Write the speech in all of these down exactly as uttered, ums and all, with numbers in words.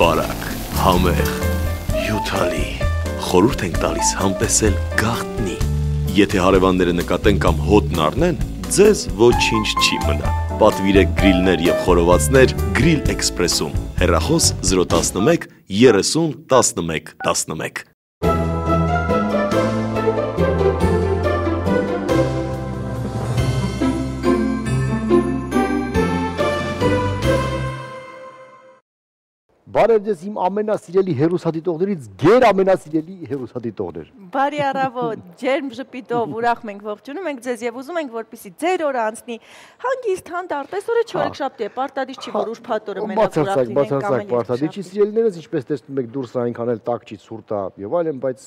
Բարակ, համեղ, հյութալի, խորհուրդ ենք տալիս համտեսել գաղտնի։ Եթե հարևանները նկատեն կամ հոտն առնեն, ձեզ ոչինչ չի մնա։ Պատվիրեք գրիլներ և խորովածներ Grill Express-ում։ Հեռախոս զրո տասնմեկ երեսուն տասնմեկ տասնմեկ։ Բարև ձեզ իմ ամենասիրելի հեռուստադիտողներից գեր ամենասիրելի հեռուստադիտողներ։ Բարի առավոտ, ջերմ ժպիտով ուրախ մենք ողջունում ենք ձեզ եւ ուզում ենք որպեսզի ձեր օրը անցնի հանգիստ հանդարտ, այսօրը չորեքշաբթի է, պարտադիր չի որ ուրբաթ օրը մենակ ուրախ լինենք կամ էլ պարտադիր չի, սիրելիներս, ինչպես տեսնում եք դուրս այնքան էլ տաք չի, ցուրտ է եւ այլն, բայց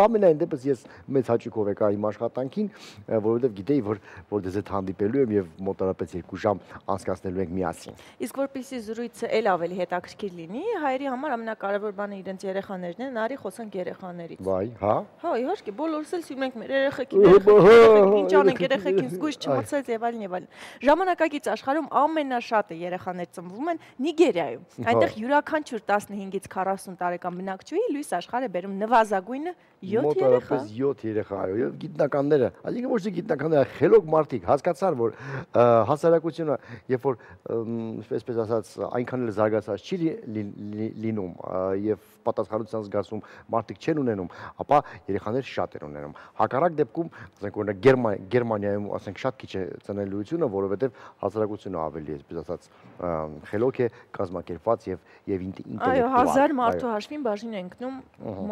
ամենայն դեպս ես մեծ հաճույքով եկա իմ աշխատանքին, որովհետեւ գիտեի, որ որ դեզ հետ հանդիպելու եմ եւ մոտարապես երկու ժամ անցկացնելու ենք միասին։ Իսկ որպեսզի զրույցը էլ ավելի հետաքրքիր լինի, հայերի համար ամենակարևոր բանը իրենց երեխաներն են, արի խոսանք երեխաներից։ Վայ, հա։ Հա, իհարկե, բոլորս էլ սիրում ենք մեր երեխեքին, երեխեքին, ինչ անենք երեխեքին, զգույշ չմրցած եւ այլն եւ այլն։ Ժամանակակից աշխարհում ամենաշատը երեխաներ ծնվում են Նիգերիայում։ Այնտեղ յուրաքանչյուր տասնհինգից քառասուն տարեկան բնակչուհի լույս աշխարհ է բերում նվազագույնը յոթ երեխա։ Մոտավորապես յոթ երեխա, այո, եւ գիտնականները, այսինքն ոչ թե գիտնականները, խելոք մարդիկ հասկացան, որ հասարակությունը, երբ որ այսպես ասած, այնքան էլ զարգացած չի լինում եւ պատասխանատվության զգացում մարդիկ չեն ունենում, ապա երեխաներ շատ են ունենում։ Հակառակ դեպքում, ասենք օրինակ Գերմանիայում, ասենք շատ քիչ է ծնելիությունը, որովհետեւ հասարակությունը ավելի, այսպես ասած, խելոք է կազմակերպված եւ եւ ինտելեկտուալ։ Այո, հազար մարդու հաշվին բաժին են ընկնում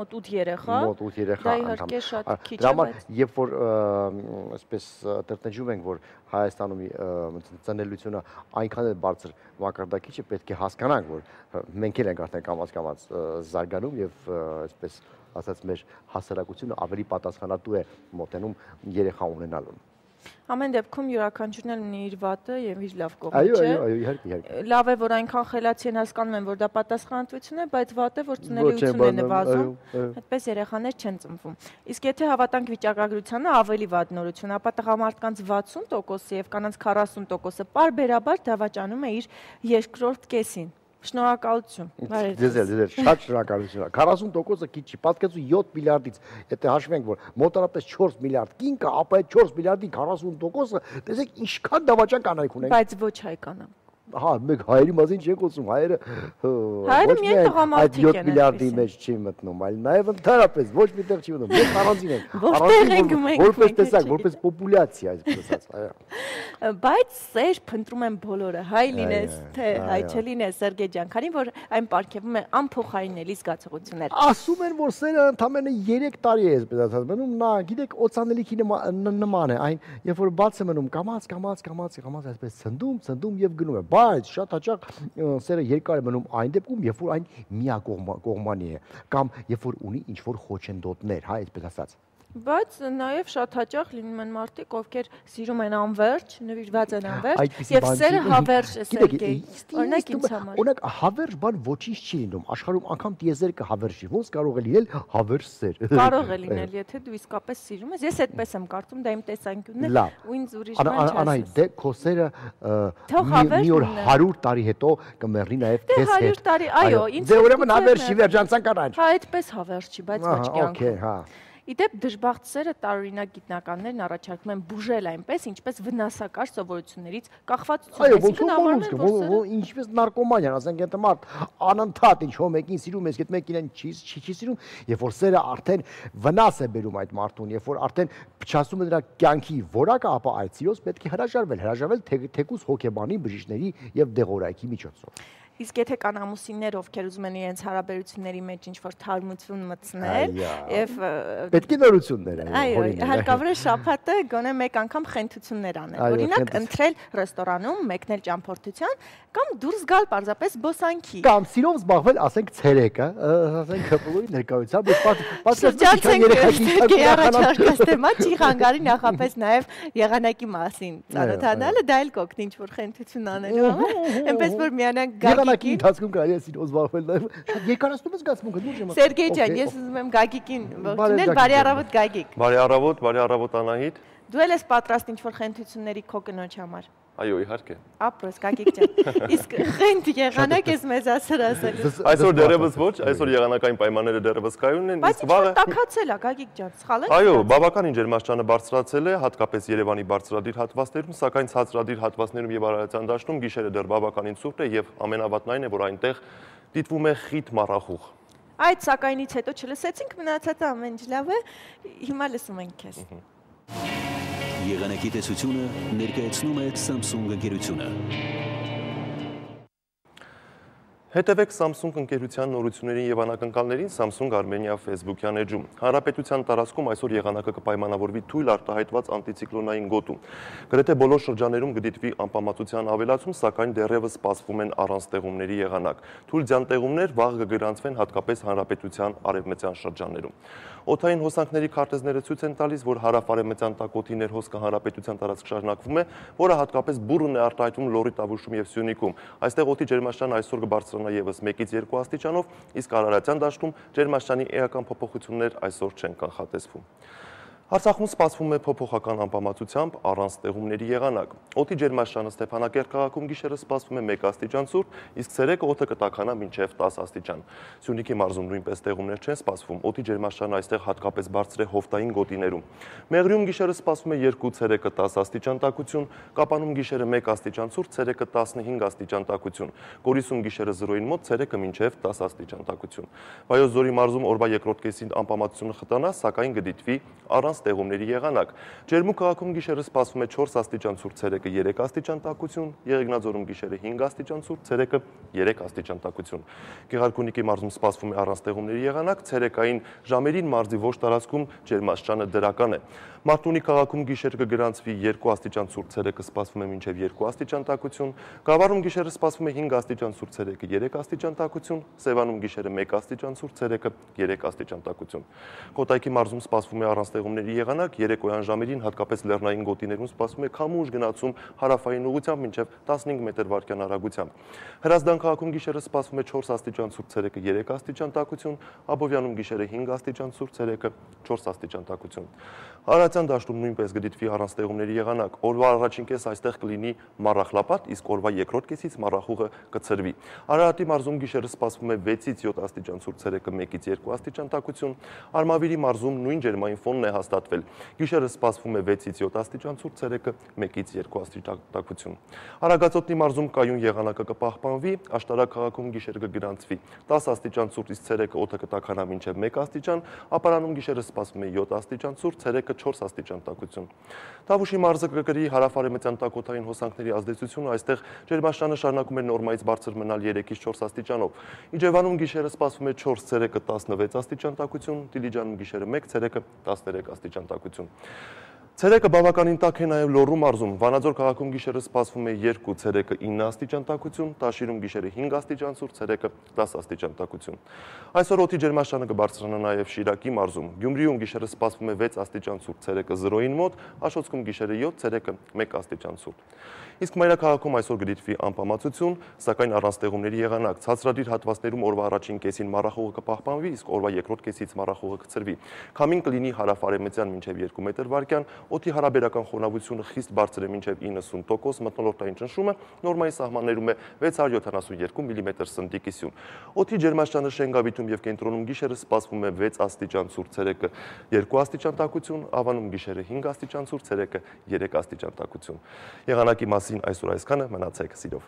մոտ ութ երեխա։ Մոտ ութ երեխա։ Դա իհարկե շատ քիչ է, բայց երբ որ այսպես տրտնջում ենք, որ Հայաստանում ծնելիությունը այնքան է բարձր մակարդակի չէ, պետք է հասկանանք, որ մենք էլ ենք արդեն կամաց-կամաց զարգանում եւ այսպես ասած մեր հասարակությունը ավելի պատասխանատու է մոտենում երեխա ունենալուն։ Ամեն դեպքում յուրաքանչյուրն էլ ունի իր վատը եւ իր լավ կողմը, չէ։ Այո, այո, այո, իհարկե, իհարկե։ Լավ է, որ այնքան խելացի են հասկանում են, որ դա պատասխանատվություն է, բայց վատը, որ ծնելիությունն է նվազում, այդպես երեխաներ չեն ծնվում։ Իսկ եթե հավատանք վիճակագրությանը, ավելի վատ նորություն, ապա տղամարդկանց վաթսուն տոկոսը եւ կանանց քառասուն տոկոսը պարբերաբար դավաճանում է իր երկրորդ կեսին։ Շնորհակալություն։ Ձեզ էլ, ձեզ էլ, շատ շնորհակալություն։ քառասուն տոկոսը քիչ չի, պատկերացու յոթ միլիարդից, եթե հաշվենք, որ մոտավորապես չորս միլիարդ կին կա, ապա այդ չորս միլիարդի քառասուն տոկոսը, տեսեք ինչքան դավաճան կանայք ունենք։ Բայց ոչ հայկանան։ Հա, մեկ հայերի մասին չեն խոսում, հայերը հայերը միայն տղամարդիկ են, յոթ միլիարդի մեջ չի մտնում, այլ նաև ընդհանրապես ոչ միտեղ չի մտնում, մենք առանձին ենք, որպես տեսակ, որպես պոպուլյացիա, այսպես ասած, այո։ Բայց սեր փնտրում են բոլորը, հայ լինես, թե հայ չլինես, Սերգեյ ջան, քանի որ այն պարգևում է անփոխարինելի զգացողություններ։ Ասում են, որ սերը ընդամենը երեք տարի է, այսպես ասած, մնում, նա, գիտեք, օծանելիքի նման է, այն, երբ որ բաց է մնում, կամաց, կամաց, կամաց, կամաց, այսպես ցնդում, ցնդում եւ գնում է։ Բայց շատ հաճախ սերը երկար է մնում այն դեպքում, երբ որ այն միակողմանի է, կամ երբ որ ունի ինչ-որ խոչընդոտներ, հա, այսպես ասած։ Բայց նաև շատ հաճախ լինում են մարդիկ, ովքեր սիրում են անվերջ, նվիրված են անվերջ, եւ սերը հավերժ է, Սերգեյ։ Օրինակ ինձ համար։ Օրինակ հավերժ բան ոչինչ չի լինում, աշխարհում անգամ տիեզերքը հավերժ չի, ոնց կարող է լինել հավերժ սեր։ Կարող է լինել, եթե դու իսկապես սիրում ես, ես այդպես եմ կարծում, դա իմ տեսանկյունն է, ու ինձ ուրիշ բան չասես։ Անահիտ, դե քո սերը մի օր հարյուր տարի հետո կմեռնի նաև քեզ հետ։ Դե հարյուր տարի, այո, ինձ։ Դե ուրեմն հավերժ չի վերջանցան կանաչ։ Հա, այդպես հավերժ չի, բայց ոչ կյանքում։ Okay, հա։ Իդեպ դժբախտ սերը տարօրինակ գիտնականներն առաջարկում են բուժել այնպես, ինչպես վնասակար սովորություններից կախվածություն։ Այո, ոնց որ ինչպես նարկոմանիան, ասենք եթե մարդ անընդհատ ինչ-որ մեկին սիրում է, իսկ այդ մեկին չի չի սիրում, երբ որ սերը արդեն վնաս է բերում այդ մարդուն, երբ որ արդեն փչացնում է նրա կյանքի որակը, ապա այդ սիրոց պետք է հրաժարվել, հրաժարվել թեկուզ հոգեբանի, բժիշկների եւ դեղորայքի միջոցով։ Իսկ եթե կան ամուսիններ, ովքեր ուզում են իրենց հարաբերությունների մեջ ինչ-որ թարմություն մտցնել եւ պետք է նորություններ են։ Այո, հարկավոր է շաբաթը գոնե մեկ անգամ խենթություններ անել։ Օրինակ, ընտրել ռեստորանում, մեկնել ճամփորդության կամ դուրս գալ պարզապես զբոսանքի։ Կամ սիրով զբաղվել, ասենք ցերեկը, ասենք հպլուի ներկայությամբ, թեմա չի խանգարի նախապես նաեւ եղանակի մասին ծանոթանալը, դա էլ կօգնի ինչ-որ խենթություն անելու համար։ Այնպես որ միանանք Գագիկի ընթացքում կարելի է սիրով զբաղվել նաև։ Շատ երկարացնում ես զգացմունքը, դու չեմ։ Սերգեյ ջան, ես ուզում եմ Գագիկին ողջունել, բարի առավոտ Գագիկ։ Բարի առավոտ, բարի առավոտ Անահիտ։ Դու ել ես պատրաստ ինչ-որ խենթությունների քո կնոջ համար։ Այո, իհարկե։ Ապրես, Գագիկ ջան։ Իսկ խենթ եղանակ ես մեզ ասել ասել։ Այսօր դեռևս ոչ, այսօր եղանակային պայմանները դեռևս կայուն են, իսկ վաղը տաքացել է, Գագիկ ջան, սխալ է։ Այո, բավականին ջերմաստիճանը բարձրացել է, հատկապես Երևանի բարձրադիր հատվածներում, սակայն ցածրադիր հատվածներում եւ Արարատյան դաշտում գիշերը դեռ բավականին ցուրտ է եւ ամենավատն այն է, որ այնտեղ դիտվում է խիտ մառախուղ։ Այդ սակայնից հետո չլսեցինք, մնացածը ամեն ինչ լավ է, հիմա լսում ենք քեզ։ Եղանակի տեսությունը ներկայացնում է Samsung ընկերությունը։ Հետևեք Samsung ընկերության նորություններին եւ անակնկալներին Samsung Armenia Facebook-յան էջում։ Հանրապետության տարածքում այսօր եղանակը կպայմանավորվի թույլ արտահայտված անտիցիկլոնային գոտու։ Գրեթե բոլոր շրջաններում կդիտվի անպամատության ավելացում, սակայն դեռևս սպասվում են առանց տեղումների եղանակ։ Թույլ ձյան տեղումներ վաղ կգրանցվեն հատկապես հանրապետության արևմտյան շրջաններում։ Օդային հոսանքների քարտեզները ցույց են տալիս, որ հարավ-արևմտյան տակոթի ներհոսքը հանրապետության տարածք շարունակվում է, որը հատկապես բուռն է արտահայտվում Լոռի, Տավուշում եւ Սյունիքում։ Այստեղ օդի ջերմաստիճանը այսօր կբարձրանա եւս մեկից երկու աստիճանով, իսկ Արարատյան դաշտում ջերմաստիճանի էական փոփոխություններ այսօր չեն կանխատեսվում։ Արցախում սպասվում է փոփոխական անպամատությամբ առանց տեղումների եղանակ։ Օդի ջերմաստիճանը Ստեփանակերտ քաղաքում գիշերը սպասվում է մեկ աստիճան ցուրտ, իսկ ցերեկը օդը կտաքանա մինչև տասը աստիճան։ Սյունիքի մարզում նույնպես տեղումներ չեն սպասվում, օդի ջերմաստիճանը այստեղ հատկապես բարձր է հովտային գոտիներում։ Մեղրիում գիշերը սպասվում է երկու, ցերեկը տասը աստիճան տաքություն, Կապանում գիշերը մեկ աստիճան ցուրտ, ցերեկը տասնհինգ աստիճան տաքություն, Գորիսում գիշերը զրոյին մոտ, ցերեկը մինչև տասը աստիճան տաքություն։ Վայոց ձորի մարզում օրվա երկրորդ կեսին անպամատությունը խտանա, սակայն կդիտվի առանց տեղումների եղանակ։ Ջերմուկ քաղաքում գիշերը սպասվում է չորս աստիճան ցուրտ, ցերեկը երեք աստիճան տաքություն, Եղեգնաձորում գիշերը հինգ աստիճան ցուրտ, ցերեկը երեք աստիճան տաքություն։ Գեղարքունիքի մարզում սպասվում է առանց տեղումների եղանակ, ցերեկային ժամերին մարզի ոչ տարածքում ջերմաստիճանը դրական է։ Մարտունի քաղաքում գիշերը կգրանցվի երկու աստիճան ցուրտ, ցերեկը սպասվում է մինչև երկու աստիճան տաքություն, Գավառում գիշերը սպասվում է հինգ աստիճան ցուրտ, ցերեկը երեք աստիճան տաքություն, Սևանում գիշերը մեկ աստիճան ցուրտ, ցերեկը երեք աստիճան տաքություն։ Կոտայքի մարզում սպասվում է առանց տեղումների եղանակ, երեկոյան ժամերին հատկապես լեռնային գոտիներում սպասվում է քամուշ գնացում հարավային ուղղությամբ մինչև տասնհինգ մետր վարկյան արագությամբ։ Հրազդան քաղաքում գիշերը սպասվում է չորս աստիճան ցուրտ, ցերեկը երեք աստիճան տաքություն, Աբովյանում գիշերը հինգ աստիճան ցուրտ, ցերեկը չորս աստիճան տաքություն։ Արարատյան դաշտում նույնպես կդիտվի առանց տեղումների եղանակ։ Օրվա առաջին կես այստեղ կլինի մառախլապատ, իսկ օրվա երկրորդ կեսից մառախուղը կցրվի։ Արարատի մարզում գիշերը սպասվում է վեցից յոթ աստիճան ցուրտ, ցերեկը մեկից երկու աստիճան տաքություն, Արմավիրի մարզում նույն ջերմային ֆոնն է հաստատվել։ Գիշերը սպասվում է վեցից յոթ աստիճան ցուրտ, ցերեկը մեկից երկու աստիճան տաքություն։ Արագածոտնի մարզում կայուն եղանակը կպահպանվի, Աշտարակ քաղաքում գիշերը կգրանցվի տասը աստիճան ցուրտ, իսկ ցերեկը օդը կտաքանա մինչև մեկ աստիճան, Ապարանում գիշերը սպասվում է յոթ աստիճան ցուրտ, ցերեկը չորս աստիճան տաքություն։ Տավուշի մարզը կկրի հարավ-արևմտյան տակոթային հոսանքների ազդեցությունը, այստեղ ջերմաստիճանը շարունակում է նորմայից բարձր մնալ երեքից չորս աստիճանով։ Իջևանում գիշերը սպասվում է չորս, ցերեկը տասնվեց աստիճան տաքություն, Դիլիջանում գիշերը մեկ, ցերեկը տասներեք աստիճան տաքություն։ Ցերեկը բավականին տաք է նաև Լոռու մարզում, Վանաձոր քաղաքում գիշերը սպասվում է երկու, ցերեկը ինը աստիճան տաքություն, Տաշիրում գիշերը հինգ աստիճան ցուրտ, ցերեկը տասը աստիճան տաքություն։ Այսօր օդի ջերմաստիճանը կբարձրանա նաև Շիրակի մարզում, Գյումրիում գիշերը սպասվում է վեց աստիճան ցուրտ, ցերեկը զրոյին մոտ, Աշոտսկում գիշերը յոթ, ցերեկը մեկ աստիճան ցուրտ։ Իսկ մայրաքաղաքում այսօր կդիտվի անպամատություն, սակայն առանց տեղումների եղանակ, ցածրադիր հատվածներում օրվա առաջին կեսին մառախուղը կպահպանվի, իսկ օրվա երկրորդ կեսից մառախուղը կցրվի։ Քամին կլինի հարավ-արևմտյան մինչև երկու մետր վարկյան, օդի հարաբերական խոնավությունը խիստ բարձր է մինչև իննսուն տոկոս, մթնոլորտային ճնշումը նորմայի սահմաններում է վեց հարյուր յոթանասունյերկու միլիմետր սնդիկի սյուն։ Օդի ջերմաստիճանը Շենգավիթում եւ կենտրոնում գիշերը սպասվում է վեց աստիճան ցուրտ, ցերեկը երկու աստիճան տաքություն, Ավանում գիշերը հինգ աստիճան ցուրտ, ցերեկը երեք աստիճան տաքություն։ Եղանակի մասին այսօր այսքանը, մնացեք սիրով։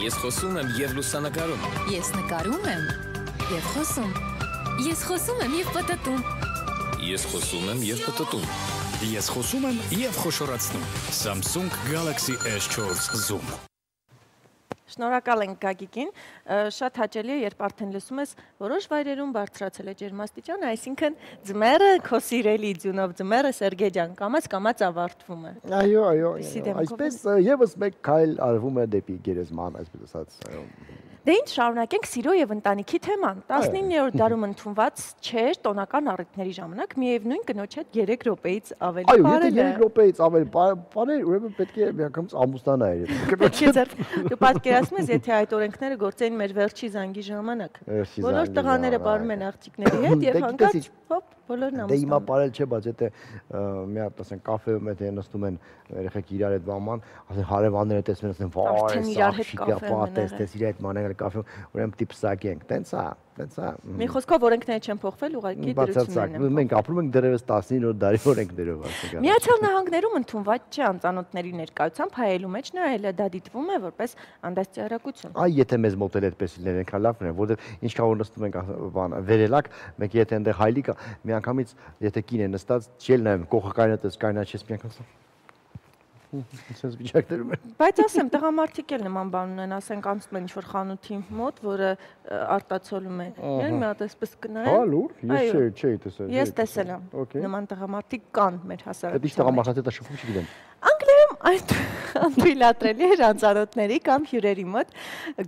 Ես խոսում եմ եւ լուսանկարում։ Ես նկարում եմ եւ խոսում։ Ես խոսում եմ եւ պտտում։ Ես խոսում եմ եւ պտտում։ Ես խոսում եմ եւ խոշորացնում։ Samsung Galaxy S չորս Zoom։ Շնորհակալ ենք Գագիկին, շատ հաճելի է, երբ արդեն լսում ես, որոշ վայրերում բարձրացել է ջերմաստիճանը, այսինքն ձմեռը, քո սիրելի ձյունով ձմեռը Սերգեյ ջան, կամաց-կամաց ավարտվում է։ Այո, այո, այսպես եւս մեկ քայլ արվում է դեպի գերեզման, այսպես ասած, այո։ Դե ինչ շարունակենք սիրո եւ ընտանիքի թեման։ տասնիններորդ դարում ընդունված չէր տոնական առիթների ժամանակ միևնույն կնոջ հետ երեք րոպեից ավելի բարել է։ Այո, եթե երեք րոպեից ավելի բարել, ուրեմն պետք է միանգամից ամուսնանալ իր։ Դու պատկերացնում ես, եթե այդ օրենքները գործեին մեր վերջի զանգի ժամանակ։ Բոլոր տղաները բարում են աղջիկների հետ եւ հանկարծ հոп, բոլորն Դե հիմա ամուսնանում։ բարել չէ, բայց եթե մի հատ ասեն կաֆեում եթե նստում են երեխեք իրար հետ բաման, ասեն հարևանները տեսնում են, ասեն վայ, սա շիկա պատես, տես իր հետ մանել կաֆեում, ուրեմն տիպսակ ենք, տենց է, տենց է։ Մի խոսքով օրենքները չեն փոխվել, ուղղակի դրություններն են։ Մենք ապրում ենք դեռևս տասնինը դարի օրենքներով, ասենք։ Միացյալ Նահանգներում ընդունված չէ անծանոթների ներկայությամբ հայելու մեջ նայելը, դա դիտվում է որպես անդաստիարակություն։ Այ եթե մեզ մոտել այդպես լիներ այնքան լավն է, որովհետև ինչքան որ նստում ենք բան վերելակ, մենք եթե այնտեղ հայլի կա, միանգամից եթե կին է նստած, չել նայում, կողը կայնատես կայնաչես միանգամից։ Sense վիճակներում է։ Բայց ասեմ, տղամարդիկ էլ նման բան ունեն, ասենք անցնում են ինչ-որ խանութի մոտ, որը արտացոլում է։ Իրեն մի հատ այսպես կնայեն։ Հա, լուր, ես չէի, չէի տեսել։ Ես տեսել եմ։ Նման տղամարդիկ կան մեր հասարակությունում։ Դա տղամարդը դա շփում չգիտեմ։ Անգլիայում այդ անթույլատրելի էր անծանոթների կամ հյուրերի մոտ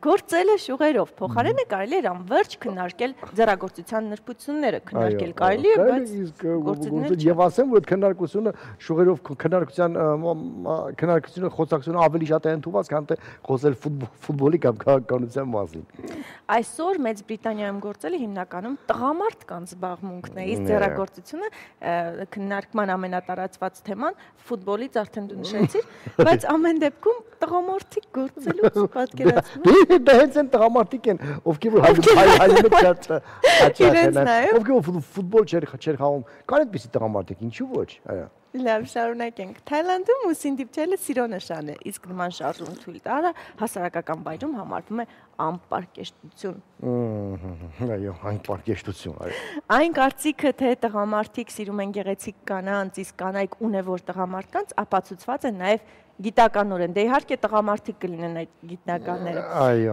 գործելը շուղերով։ Փոխարենը կարելի էր անվերջ քննարկել ձեռագործության նրբությունները, քննարկել կարելի է, բայց եւ ասեմ, որ այդ քննարկությունը շուղերով քննարկության քննարկությունը խոսակցությունը ավելի շատ է ընդունված, քան թե խոսել ֆուտբոլի կամ քաղաքականության մասին։ Այսօր Մեծ Բրիտանիայում գործելը հիմնականում տղամարդկանց զբաղմունքն է, իսկ ձեռագործությունը քննարկման ամենատարածված թեման ֆուտբոլից արդեն դու նշեցիր, բայց ամեն դեպքում տղամարդիկ գործելուց պատկերացնում։ Դա հենց այն տղամարդիկ են, ովքեր որ հայերենը շատ հաճախ են, ովքեր ֆուտբոլ չեր խաղում, կան այդպիսի տղամարդիկ, ինչու ոչ, այո։ Լավ, շարունակենք։ Թայլանդում ուսին դիպչելը սիրո նշան է, իսկ նման շարժում թույլ տալը հասարակական վայրում համարվում է անպարկեշտություն։ Այո, անպարկեշտություն, այո։ Այն կարծիքը, թե տղամարդիկ սիրում են գեղեցիկ կանանց, իսկ կանայք ունևոր տղամարդկանց, ապացուցված է նաև գիտականորեն, դե իհարկե տղամարդիկ կլինեն այդ գիտնականները։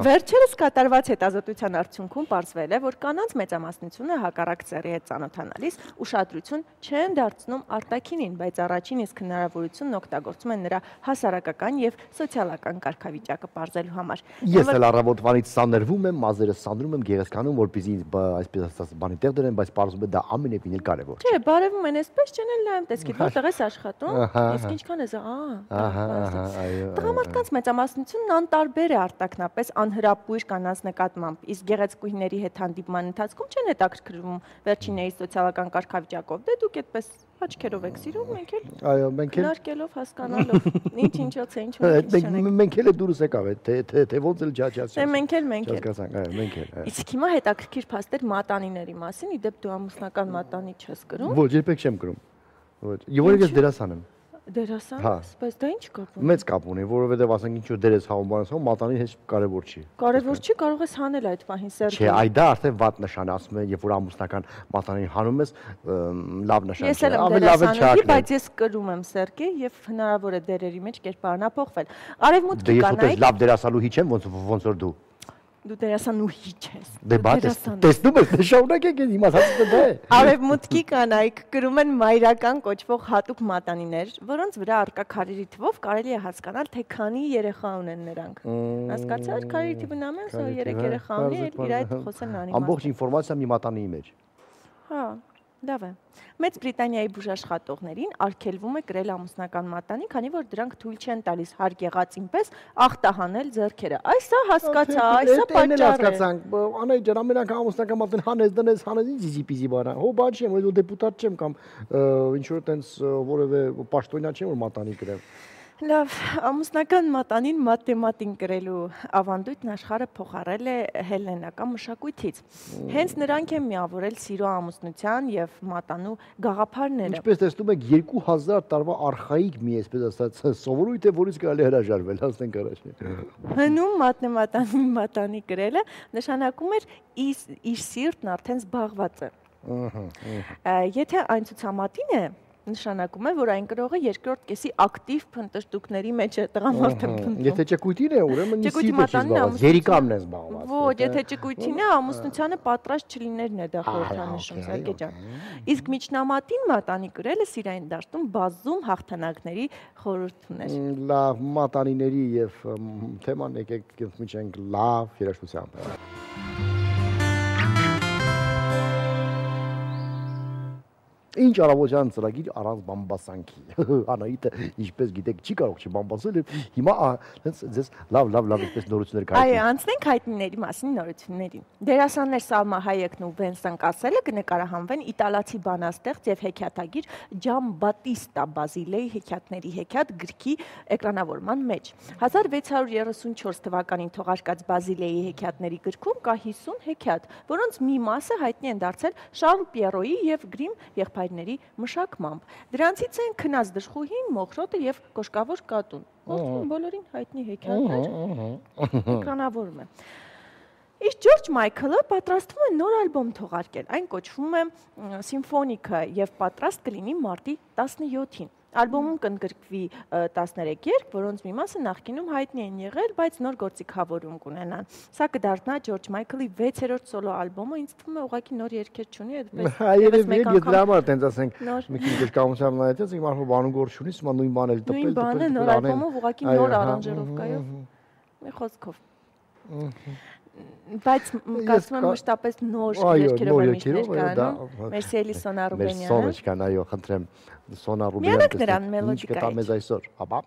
Վերջերս կատարված հետազոտության արդյունքում պարզվել է, որ կանանց մեծամասնությունը հակառակ սեռի հետ ծանոթանալիս ուշադրություն չեն դարձնում արտաքինին, բայց առաջին իսկ հնարավորությունն օգտագործում են նրա հասարակական եւ սոցիալական կարգավիճակը պարզելու համար։ Ես էլ առավոտվանից սանրվում եմ, մազերս սանրում եմ, գեղեցկանում, որպեսզի այսպես ասած բանի տեղ դրեն, բայց պարզվում է դա ամենևին էլ կարևոր չէ։ Չէ, բարևում են այսպես չեն էլ նայում, տեսքիդ որտեղ ես աշխատում, իսկ ինչքան ես, ահա Տղամարդկանց մեծամասնությունն անտարբեր է արտաքնապես անհրապույր կանանց նկատմամբ, իսկ գեղեցկուհիների հետ հանդիպման ընթացքում չեն հետաքրքրվում վերջինների սոցիալական կարգավիճակով։ Դե դուք այդպես աչքերով եք սիրում, մենք էլ այո, մենք էլ քննարկելով, հասկանալով, ինչ ինչոց է, ինչ մենք էլ դուրս եկավ է, թե թե ոնց էլ ջաջացի։ Դե մենք էլ մենք էլ։ Այո, մենք էլ։ Իսկ հիմա հետաքրքիր փաստեր մատանիների մասին, իդեպ դու ամուսնական մատանի չես կրում։ Ոչ, երբեք չեմ կրում։ Ոչ։ Եվ որ ես դերասան եմ։ Դերասան, բայց դա ինչ կապ ունի։ Մեծ կապ ունի, որովհետև ասենք ինչ որ դեր ես հավում, բանս համ մատանին հեչ կարևոր չի։ Կարևոր չի, կարող ես հանել այդ պահին սերտը։ Չէ, այ դա արդեն վատ նշան է, ասում են, երբ որ ամուսնական մատանին հանում ես, լավ նշան չէ։ Ես էլ եմ դերասանուհի, բայց ես կրում եմ սերկի եւ հնարավոր է դերերի մեջ կերպարանափոխվել։ Արևմուտքի կանայք լավ դերասանուհի չեմ, ոնց ոնց որ դու։ Դու դերասանուհի չես։ Դե բա տեսնում ես, շարունակեք ինձ իմացածը դա է։ Արևմուտքի կանայք կրում են մայրական կոչվող հատուկ մատանիներ, որոնց վրա արկա քարերի թվով կարելի է հասկանալ, թե քանի երեխա ունեն նրանք։ Հասկացա՞ր, քարերի թիվը նամես, երեք երեխա ունի, իր այդ խոսեն անիմաստ։ Ամբողջ ինֆորմացիա մի մատանիի մեջ։ Հա, լավ է։ Մեծ Բրիտանիայի բուժաշխատողներին արգելվում է կրել ամուսնական մատանի, քանի որ դրանք թույլ չեն տալիս հարկ եղածին պես ախտահանել ձեռքերը։ Այսա հասկացա, այսա պատճառ է։ Հասկացանք, անայ ջան, ամեն անգամ ամուսնական մատան հանես դնես, հանես ինձ իզի-պիզի բանա։ Հո բան չեմ, որ դեպուտատ չեմ կամ ինչ որ տենց որևէ պաշտոնյա չեմ որ մատանի կրեմ։ Լավ, ամուսնական մատանին մաթեմատին կրելու ավանդույթն աշխարհը փոխարել է հելլենական մշակույթից։ Հենց նրանք են միավորել սիրո ամուսնության եւ մատանու գաղափարները։ Ինչպես տեսնում եք, երկու հազար տարվա արխայիկ մի այսպես ասած սովորույթ է, որից կարելի հրաժարվել, հասնենք առաջ։ Հնում մաթեմատանի մատանի կրելը նշանակում էր իր սիրտն արդեն զբաղված է։ Եթե այն ցուցամատին է, նշանակում է, որ այն կրողը երկրորդ կեսի ակտիվ փնտրտուքների մեջ է տղամարդը փնտրում։ Եթե ճկույթին է, ուրեմն սիրտը չի զբաղված, երիկամն է զբաղված։ Ոչ, եթե ճկույթին է, ամուսնությանը պատրաստ չլիներն է դա խորհրդանշում, Սարգե ջան։ Իսկ միջնամատին մատանի կրելը սիրային դաշտում բազում հաղթանակների խորհուրդ ուներ։ Լավ, մատանիների եւ թեման եկեք միջենք լավ երաժշտությամբ։ Ինչ առավոտյան ծրագիր առանց բամբասանքի։ Անահիտը ինչպես գիտեք չի կարող չբամբասել եւ հիմա հենց ձեզ լավ լավ լավ այսպես նորություններ կայացնի։ Այո, անցնենք հայտնիների մասին նորություններին։ Դերասաններ Սալմա Հայեկն ու Վենսան Կասելը կնկարահանվեն իտալացի բանաստեղծ եւ հեքիաթագիր Ջամբատիստա Բազիլեի հեքիաթների հեքիաթ գրքի էկրանավորման մեջ։ հազար վեց հարյուր երեսունչորս թվականին թողարկած Բազիլեի հեքիաթների գրքում կա հիսուն հեքիաթ, որոնց մի մասը հայտնի են դարձել Շարլ Պիերոյի եւ Գրիմ եղբայրների մշակմամբ։ Դրանցից են Քնած դժխուհին, Մոխրոտը եւ Կոշկավոր կատուն։ Բոլորին հայտնի հեքիաթներ էկրանավորում է։ Իսկ Ջորջ Մայքլը պատրաստվում է նոր ալբոմ թողարկել։ Այն կոչվում է Սիմֆոնիկը եւ պատրաստ կլինի մարտի տասնյոթին։ Ալբոմում կընդգրկվի տասներեք երգ, որոնց մի մասը նախկինում հայտնի են եղել, բայց նոր գործիքավորում կունենան։ Սա կդառնա Ջորջ Մայքլի վեցերորդ սոլո ալբոմը, ինձ թվում է ուղղակի նոր երգեր չունի, այդպես եւս մեկ անգամ։ Եթե համար տենց ասենք, մի քիչ դժկամությամբ նայեցի, ինքը մարդու բանում գործ չունի, հիմա նույն բանը էլ տպել, տպել։ Նույն բանը նոր ալբոմով ուղղակի նոր արանժիրովկայով։ Մի խոսքով։ Բայց կարծում եմ մշտապես նոր երգերով է միշտ ներկայանում։ Մերսիելի Սոնա Ռուբենյանը։ Մեր Սոնեչկան, այո, խնդրեմ Սոնա Ռուբենյանը։ Միանակ նրան մելոդիկա։ Կտա մեզ այսօր, հապա։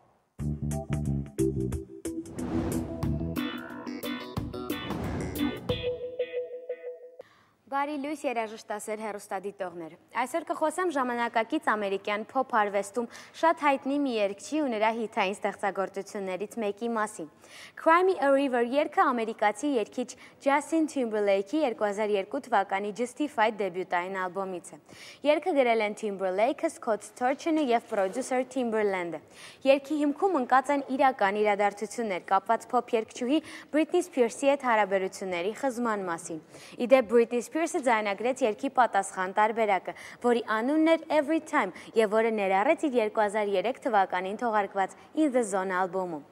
Բարի լույս երաժշտասեր հեռուստադիտողներ։ Այսօր կխոսեմ ժամանակակից ամերիկյան փոփ արվեստում շատ հայտնի մի երգչի ու նրա հիթային ստեղծագործություններից մեկի մասին։ Cry Me a River երգը ամերիկացի երգիչ Ջասթին Թիմբերլեյքի երկու հազար երկու թվականի Justified դեբյուտային ալբոմից է։ Երգը գրել են Timberlake-ը, Scott Storchin-ը եւ պրոդյուսեր Timberland-ը։ Երգի հիմքում ընկած են իրական իրադարձություններ կապված փոփ երգչուհի Britney Spears-ի հետ հարաբերությունների խզման մասին։ Իդեպ Britney Spears-ը ձայնագրեց երգի պատասխան տարբերակը, որի անունն էր Every Time եւ որը ներառեց իր երկու հազար երեք թվականին թողարկված In the Zone ալբոմում։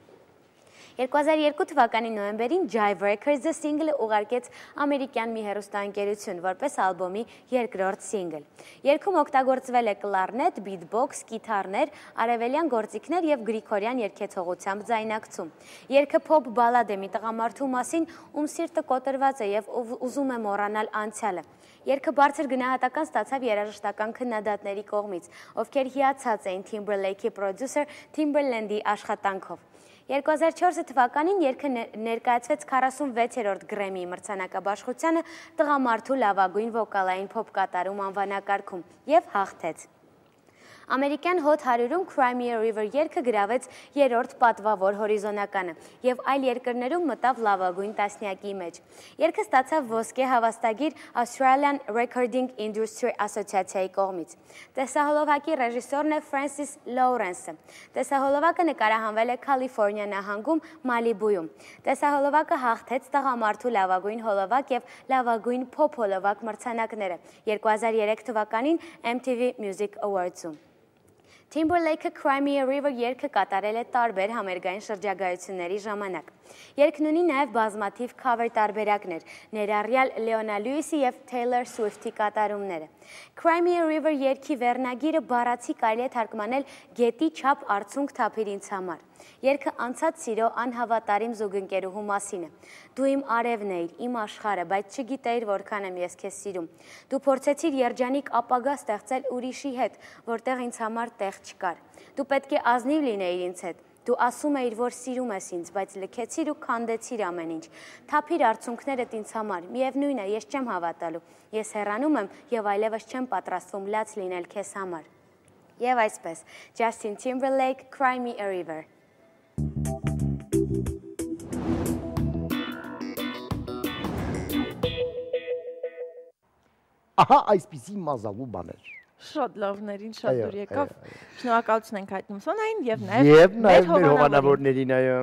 երկու հազար երկու թվականի նոյեմբերին Jive Records-ը սինգլը ուղարկեց ամերիկյան մի հեռուստաընկերություն որպես ալբոմի երկրորդ սինգլ։ Երգում օգտագործվել է կլարնետ, բիթբոքս, կիթառներ, արևելյան գործիքներ եւ գրիգորյան երգեցողությամբ ձայնակցում։ Երգը փոփ բալադ է մի տղամարդու մասին, ում սիրտը կոտրված է եւ ուզում է մոռանալ անցյալը։ Երգը բարձր գնահատական ստացավ երաժշտական քննադատների կողմից, ովքեր հիացած էին Timberlake-ի պրոդյուսեր Timberland-ի աշխատանքով։ երկու հազար չորս թվականին երգը ներկայացվեց քառասունվեցերորդ Grammy մրցանակաբաշխությանը տղամարդու լավագույն վոկալային փոփ կատարում անվանակարգում եւ հաղթեց։ Ամերիկյան Hot հարյուրում Cry Me a River երգը գրավեց երրորդ պատվավոր հորիզոնականը եւ այլ երկրներում մտավ լավագույն տասնյակի մեջ։ Երգը ստացավ ոսկե հավաստագիր Australian Recording Industry Association-ի կողմից։ Տեսահոլովակի ռեժիսորն է Francis Lawrence-ը։ Տեսահոլովակը նկարահանվել է Կալիֆոռնիա նահանգում Մալիբույում։ Տեսահոլովակը հաղթեց տղամարդու լավագույն հոլովակ եւ լավագույն փոփ հոլովակ մրցանակները երկու հազար երեք թվականին M T V Music Awards-ում։ Timberlake-ը Cry Me a River երգը կատարել է տարբեր համերգային շրջագայությունների ժամանակ։ Երգն ունի նաև բազմաթիվ cover տարբերակներ, ներառյալ Leona Lewis-ի եւ Taylor Swift-ի կատարումները։ Cry Me a River երգի վերնագիրը բառացի կարելի է թարգմանել գետի չափ արցունք թափիր ինձ համար։ Երգը անցած սիրո անհավատարիմ զուգընկերուհու մասին է։ Դու իմ արևն էիր, իմ աշխարհը, բայց չգիտեիր որքան եմ ես քեզ սիրում։ Դու փորձեցիր երջանիկ ապագա ստեղծել ուրիշի հետ, որտեղ ինձ համար տեղ չկար։ Դու պետք է ազնիվ լինեիր ինձ հետ։ Դու ասում էիր, որ սիրում ես ինձ, բայց լքեցիր ու քանդեցիր ամեն ինչ։ Թափիր արցունքներդ ինձ համար, միևնույն է, ես չեմ հավատալու։ Ես հեռանում եմ եւ այլևս չեմ պատրաստվում լաց լինել քեզ համար։ Եվ այսպես, Justin Timberlake, Cry Me a River։ Ահա այսպիսի մազալու բաներ։ Շատ լավներին, շատ դուր եկավ։ Շնորհակալություն ենք հայտնում Սոնային եւ նաեւ եւ նաեւ մեր հովանավորներին, այո։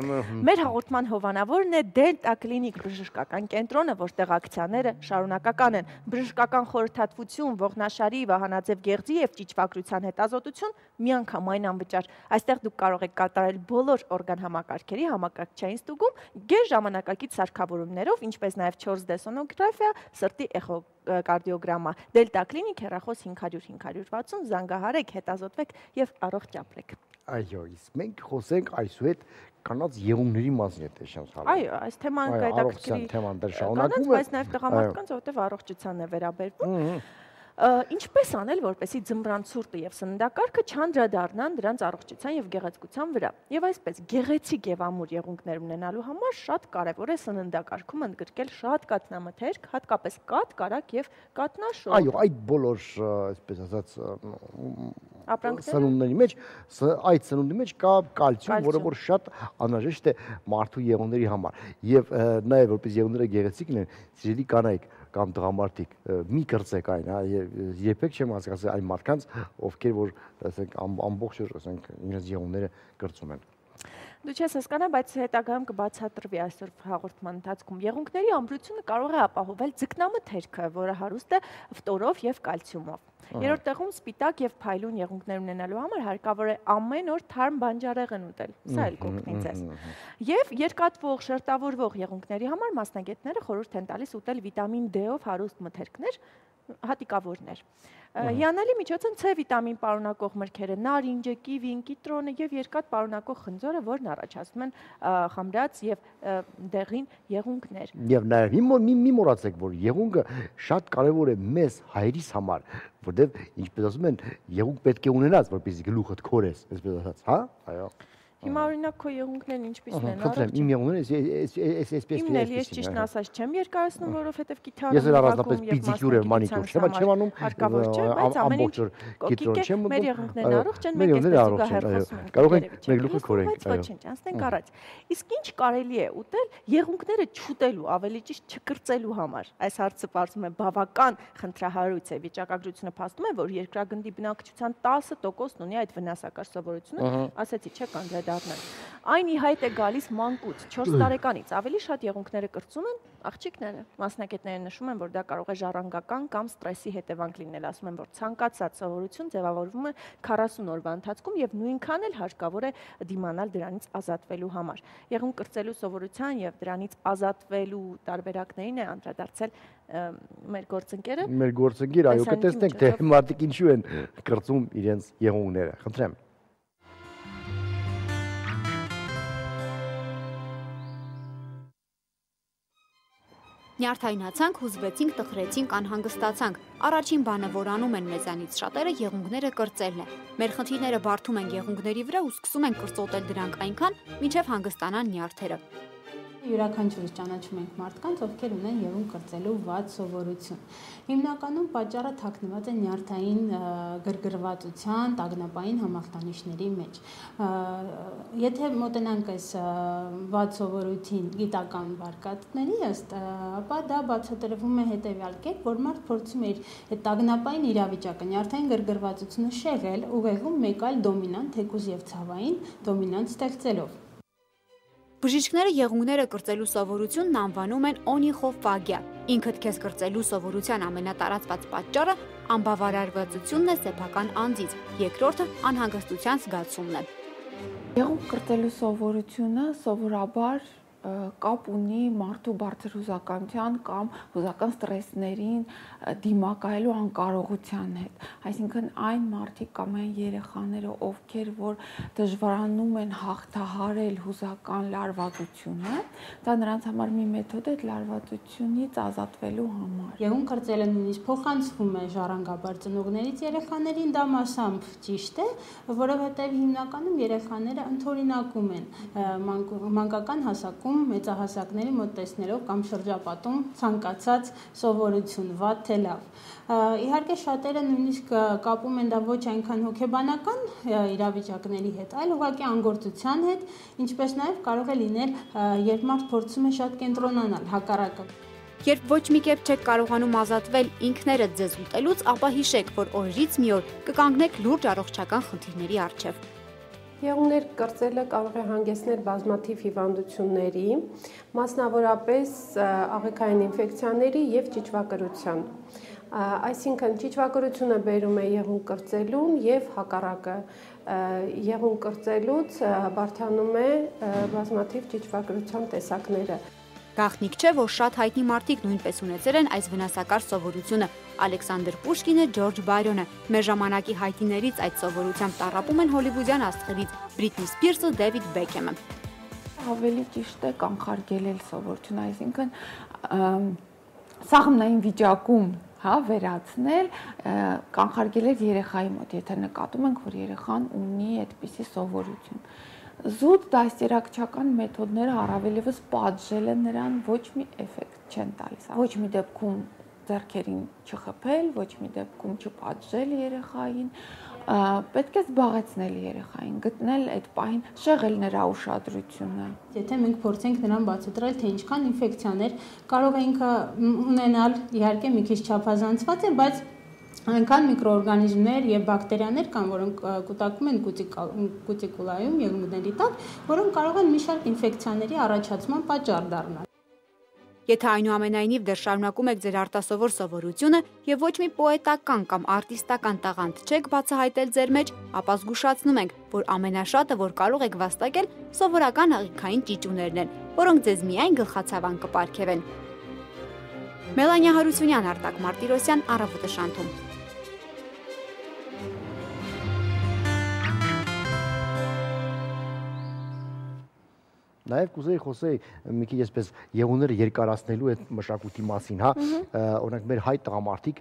Մեր հաղորդման հովանավորն է Delta Clinic բժշկական կենտրոնը, որտեղ ակցիաները շարունակական են։ Բժշկական խորհրդատվություն, ողնաշարի, վահանաձև գեղձի եւ ճիճվագրության հետազոտություն միանգամայն անվճար։ Այստեղ դուք կարող եք կատարել բոլոր օրգան համակարգերի համակարգչային ստուգում գեր ժամանակակից սարքավորումներով, ինչպես նաեւ չորս դե սոնոգրաֆիա, սրտի էխոկարդիոգրամա։ Delta Clinic հեռախոս հինգ հարյուր հինգ հարյուր վաթսուն, զանգահարեք, հետազոտվեք եւ առողջ ապրեք։ Այո, իսկ մենք խոսենք այսուհետ կանանց եղումների մասին է տեսած հալը։ Այո, այս թեման կայտակցի թեման դեռ շարունակվում է, բայց նաեւ տղամարդկանց, որովհետեւ առողջությանն է վերաբերվում։ Ինչպես անել, որպեսզի ձմռան ցուրտը եւ սննդակարգը չանդրադառնան դրանց առողջության եւ գեղեցկության վրա։ Եվ այսպես գեղեցիկ եւ ամուր եղունգներ ունենալու համար շատ կարեւոր է սննդակարգում ընդգրկել շատ կաթնամթերք, հատկապես կաթ, կարագ եւ կատնաշոր։ Այո, այդ բոլոր, այսպես ասած, սնունդների մեջ, այդ սնունդի մեջ կա կալցիում, որը որ շատ անհրաժեշտ է մարդու եղունգների համար։ Եվ նաեւ որպես եղունգները գեղեցիկ լինեն, սիրելի կանայք կամ տղամարդիկ, մի կրծեք այն, երբեք չեմ հասկացել այն մարդկանց, ովքեր որ, ասենք, ամբողջ օր, ասենք, իրենց եղունգները կրծում են։ Դու չես հասկանա, բայց հետագայում կբացատրվի այսօր հաղորդման ընթացքում։ Եղունգների ամրությունը կարող է ապահովել ձկնամթերքը, որը հարուստ է ֆտորով եւ կալցիումով։ Երրորդ տեղում սպիտակ եւ փայլուն եղունգներ ունենալու համար հարկավոր է ամեն օր թարմ բանջարեղեն ուտել։ Սա էլ կօգնի ձեզ։ Եւ երկաթվող, շերտավորվող եղունգների համար մասնագետները խորհուրդ են տալիս ուտել վիտամին D-ով հարուստ մթերքներ, հատիկավորներ։ Հիանալի միջոց են C վիտամին պարունակող մրգերը, նարինջը, կիվին, կիտրոնը եւ երկաթ պարունակող խնձորը, որն առաջացնում են խմրած եւ դեղին եղունգներ։ Եվ նաեւ մի մոռացեք, որ եղունգը շատ կարեւոր է մեզ հայրիս համար, որտեղ ինչպես ասում են, եղունգ պետք է ունենաս, որպեսզի գլուխդ քորես, այսպես ասած, հա? Այո։ Հիմա օրինակ քո եղունգներն ինչպիսին են, առողջ։ Իմ եղունգները այսպես Իմն էլ ես ճիշտն ասած չեմ երկարացնում, որովհետև կիթառը ես էլ առանձնապես պիդիկյուր եւ մանիկյուր չեմ չեմ անում, հարկավոր չէ, բայց ամեն ինչ կիտրոն չեմ ուտում։ Մեր եղունգներն առողջ են, մենք այսպես զուգահեռ խոսում ենք։ Կարող ենք մեր գլուխը քորենք, այո։ Ոչինչ, անցնենք առաջ։ Իսկ ինչ կարելի է ուտել եղունգները չուտելու, ավելի ճիշտ չկրծելու համար։ Այս հարցը բարձում է բավական խնդրահարույց է։ Վիճակագրությունը փաստում է, որ երկրագնդի բնակչության տասը տոկոսն ունի այդ վնասակար սովորությունը, ասեցի չէ կանդրադառնալ։ Այն ի հայտ է գալիս մանկուց, չորս տարեկանից, ավելի շատ եղունգները կրծում են աղջիկները։ Մասնագետները նշում են, որ դա կարող է ժառանգական կամ ստրեսի հետևանք լինել, ասում են, որ ցանկացած սովորություն ձևավորվում է քառասուն օրվա ընթացքում եւ նույնքան էլ հարկավոր է դիմանալ դրանից ազատվելու համար։ Եղունգ կրծելու սովորության եւ դրանից ազատվելու տարբերակներին է անդրադարձել մեր գործընկերը։ Մեր գործընկերը, այո, կտեսնենք թե մարդիկ ինչու են կրծում իրենց եղունգները։ Խնդրեմ։ Նյարդայնացանք, հուզվեցինք, տխրեցինք, անհանգստացանք։ Առաջին բանը, որ անում են մեզանից շատերը, եղունգները կրծելն է։ Մեր խնդիրները բարդում են եղունգների վրա ու սկսում են կրծոտել դրանք այնքան, մինչև հանգստանան նյարդերը։ Յուրաքանչյուրս ճանաչում ենք մարդկանց, ովքեր ունեն եղունգ կրծելու վատ սովորություն։ Հիմնականում պատճառը թաքնված է նյարդային գրգռվածության, տագնապային համախտանիշների մեջ։ Եթե մոտենանք այս վատ սովորույթին գիտական վարկածների ըստ, ապա դա բացատրվում է հետևյալ կերպ, որ մարդ փորձում է իր այդ տագնապային իրավիճակը, նյարդային գրգռվածությունը շեղել, ուղեղում մեկ այլ դոմինանտ, թեկուզ եւ ցավային դոմինանտ ստեղծելով։ Բժիշկները եղունգները կրծելու սովորությունն անվանում են օնիխոֆագիա։ Ինքդ քեզ կրծելու սովորության ամենատարածված պատճառը անբավարարվածությունն է սեփական անձից, երկրորդը անհանգստության զգացումն է։ Եղունգ կրծելու սովորությունը սովորաբար կապ ունի մարդու բարձր հուզականության կամ հուզական ստրեսներին դիմակայելու անկարողության հետ։ Այսինքն այն մարդիկ կամ այն երեխաները, ովքեր որ դժվարանում են հաղթահարել հուզական լարվածությունը, դա նրանց համար մի մեթոդ է լարվածությունից ազատվելու համար։ Եղունգ կրծելը նույնիսկ փոխանցվում է ժառանգաբար ծնողներից երեխաներին, դա մասամբ ճիշտ է, որովհետև հիմնականում երեխաները ընդօրինակում են մանկական հասակում մեծահասակների մոտ տեսնելով կամ շրջապատում ցանկացած սովորություն, վատ թե լավ։ Իհարկե շատերը նույնիսկ կապում են դա ոչ այնքան հոգեբանական իրավիճակների հետ, այլ ուղղակի անգործության հետ, ինչպես նաև կարող է լինել, երբ մարդ փորձում է շատ կենտրոնանալ, հակառակը։ Երբ ոչ մի կերպ չեք կարողանում ազատվել ինքներդ ձեզ ուտելուց, ապա հիշեք, որ օրերից մի օր կկանգնեք լուրջ առողջական խնդիրների առջև։ Եղունգներ կրծելը կարող է հանգեցնել բազմաթիվ հիվանդությունների, մասնավորապես աղիքային ինֆեկցիաների եւ ճիճվակրության։ Այսինքն ճիճվակրությունը բերում է եղունգ կրծելուն եւ հակառակը եղունգ կրծելուց բարդանում է բազմաթիվ ճիճվակրության տեսակները։ Գաղտնիք չէ, որ շատ հայտնի մարդիկ նույնպես ունեցել են այս վնասակար սովորությունը։ Ալեքսանդր Պուշկինը, Ջորջ Բայրոնը, մեր ժամանակի հայտնիներից այդ սովորությամբ տառապում են հոլիվուդյան աստղերից Բրիթնի Սփիրսը, Դեվիդ Բեքեմը։ Ավելի ճիշտ է կանխարգելել սովորությունը, այսինքն սաղմնային վիճակում հա, վերացնել, կանխարգել էր երեխայի մոտ, եթե նկատում ենք, որ երեխան ունի այդպիսի սովորություն։ Զուտ դաստիարակչական մեթոդները առավելևս պատժելը նրան ոչ մի էֆեկտ չեն տալիս։ Ոչ մի դեպքում ձեռքերին չխփել, ոչ մի դեպքում չպատժել երեխային, պետք է զբաղեցնել երեխային, գտնել այդ պահին, շեղել նրա ուշադրությունը։ Եթե մենք փորձենք նրան բացատրել, թե ինչքան ինֆեկցիաներ կարող է ինքը ունենալ, իհարկե մի քիչ չափազանցված է, բայց այնքան միկրոօրգանիզմներ եւ բակտերիաներ կան, որոնք կուտակում են կուտիկուլայում, եղունգների տակ, որոնք կարող են մի շարք ինֆեկցիաների առաջացման պատճառ դառնալ։ Եթե այնուամենայնիվ դեռ շարունակում եք ձեր արտասովոր սովորությունը եւ ոչ մի պոետական կամ արտիստական տաղանդ չեք բացահայտել ձեր մեջ, ապա զգուշացնում ենք, որ ամենաշատը, որ կարող եք վաստակել, սովորական աղիքային ճիճուներն են, որոնք ձեզ միայն գլխացավան կպարգևեն։ Մելանիա Հարությունյան, Արտակ Մարտիրոսյան, Առավոտը շանթում։ Նաև կուզեի խոսեի մի քիչ այսպես եղունգները երկարացնելու այդ մշակույթի մասին, հա, օրինակ մեր հայ տղամարդիկ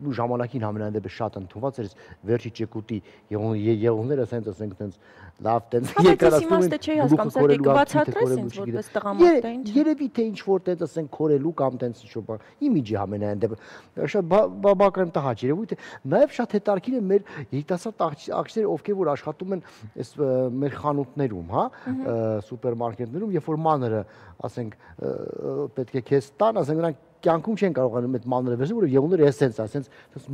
ու ժամանակին համենայն դեպս շատ ընդունված էր վերջի ճեկուտի եղունգները ասենք ասենք տենց լավ տենց երկարացնում են։ Երևի թե ինչ որ տենց ասենք քորելու կամ տենց ինչ որ իմիջի համենայն դեպս շատ բավական տհաճ երևույթ է։ Նաև շատ հետաքրքիր է մեր երիտասարդ աղջիկները, ովքեր որ աշխատում են այս մեր խանութներում, հա, սուպերմարկետներում, երբ որ մանրը, ասենք, պետք է քեզ տան, ասենք նրանք կյանքում չեն կարողանում այդ մանրը վերցնել, որովհետև եղունգները էսենց է, ասենց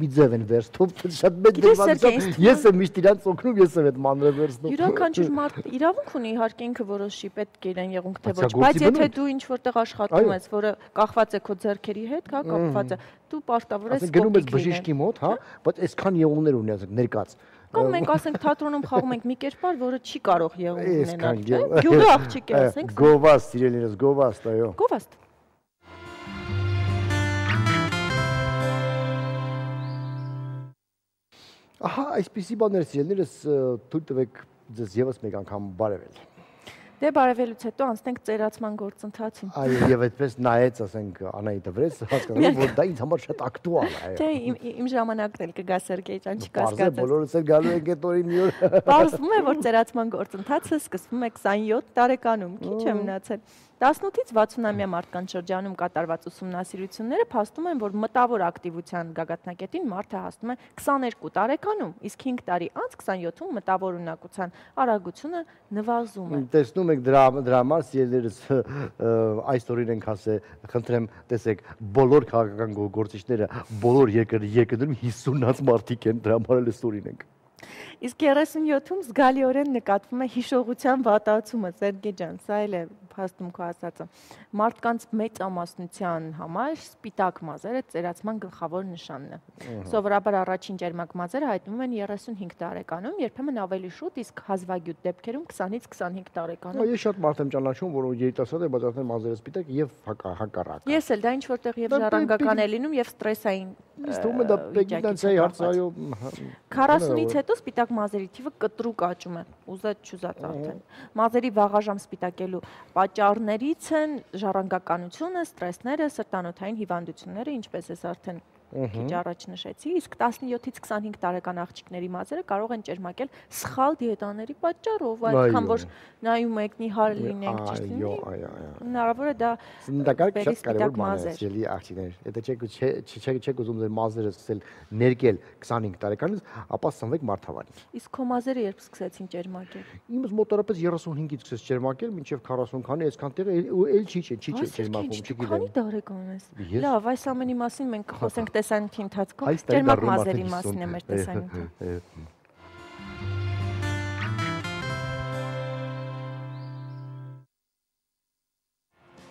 մի ձև են վերցնում, շատ մեծ դեպքերում ես եմ միշտ իրանց օգնում, ես եմ այդ մանրը վերցնում։ Յուրաքանչյուր մարդ իրավունք ունի իհարկե ինքը որոշի պետք է իրեն եղունգ թե ոչ, բայց եթե դու ինչ որտեղ աշխատում ես, որը կախված է քո ձեռքերի հետ, հա, կապված է, դու պարտավոր ես գնում ես բժիշկի մոտ, հա, բայց այսքան եղունգներ ունի, ասենք, ներկած։ Կամ մենք ասենք թատրոնում խաղում ենք մի կերպար, որը չի կարող եղունգ ունենալ, չէ՞։ Գյուղի աղջիկ է, ասենք։ Գովաստ, սիրելիներս, գովաստ, այո։ Գովաստ։ Ահա, այսպիսի բաներ, սիրելիներս, թույլ տվեք ձեզ եւս մեկ անգամ բարևել։ Դե բարևելուց հետո անցնենք ծերացման գործընթացին։ Այո, եւ այդպես նայեց, ասենք, Անահիտը վրես, հասկանում որ դա ինձ համար շատ ակտուալ է։ Չէ, իմ ժամանակն էլ կգա Սերգեյ ջան, չկասկածես։ Պարզ է, բոլորս էլ գալու ենք այդ օրին մի օր։ Պարզվում է, որ ծերացման գործընթացը սկսվում է քսանյոթ տարեկանում, քիչ է մնացել։ տասնութից վաթսունամյա մարդկանց շրջանում կատարված ուսումնասիրությունները փաստում են, որ մտավոր ակտիվության գագաթնակետին մարդը հասնում է քսաներկու տարեկանում, իսկ հինգ տարի անց քսանյոթում մտավոր ունակության արագությունը նվազում է։ Տեսնում եք դրա դրա համար սիրելիներս այս օրին ենք ասել, խնդրեմ, տեսեք, բոլոր քաղաքական գործիչները բոլոր երկրներում հիսունից մարդիկ են, դրա համար էլ այս օրին ենք։ Իսկ երեսունյոթում զգալիորեն նկատվում է հիշողության վատացումը, Սերգեյ ջան, սա էլ է փաստում քո ասածը։ Մարդկանց մեծամասնության համար սպիտակ մազերը ծերացման գլխավոր նշանն է։ Սովորաբար առաջին ջերմակ մազերը հայտնվում են երեսունհինգ տարեկանում, երբեմն ավելի շուտ, իսկ հազվագյուտ դեպքերում քսանից քսանհինգ տարեկանում։ Ես շատ մարդ եմ ճանաչում, որոնք երիտասարդ են, բայց արդեն մազերը սպիտակ եւ հակառակ։ Ես էլ դա ինչ որտեղ եւ ժառանգական է լինում եւ ստրեսային Ստում է դա պեգիտանցիայի հարցայո քառասունից հետո սպիտակ մազերի թիվը կտրուկ աճում է, ուզած չուզած արդեն։ Մազերի վաղաժամ սպիտակելու պատճառներից են ժառանգականությունը, ստրեսները, սրտանոթային հիվանդությունները, ինչպես ես արդեն քիչ առաջ նշեցի, իսկ տասնյոթից քսանհինգ տարեկան աղջիկների մազերը կարող են ճերմակել սխալ դիետաների պատճառով, այդքան որ նայում եք նիհար լինենք, ճիշտ լինի։ Հնարավոր է դա բերի սպիտակ մազեր։ Ելի աղջիկներ, եթե չեք չեք ուզում ձեր մազերը սկսել ներկել քսանհինգ տարեկանից, ապա սնվեք մարդավարի։ Իսկ քո մազերը երբ սկսեցին ճերմակել։ Իմս մոտավորապես երեսունհինգից սկսեց ճերմակել, մինչև քառասուն քանի, այսքան տեղը էլ չի չի չի ճերմակում, չգիտեմ։ Քանի տարեկան ես։ Լավ, այս ամենի մասին մենք կխոսենք տեսանյութի ընթացքում, ճերմակ մազերի մասին է մեր տեսանյութը։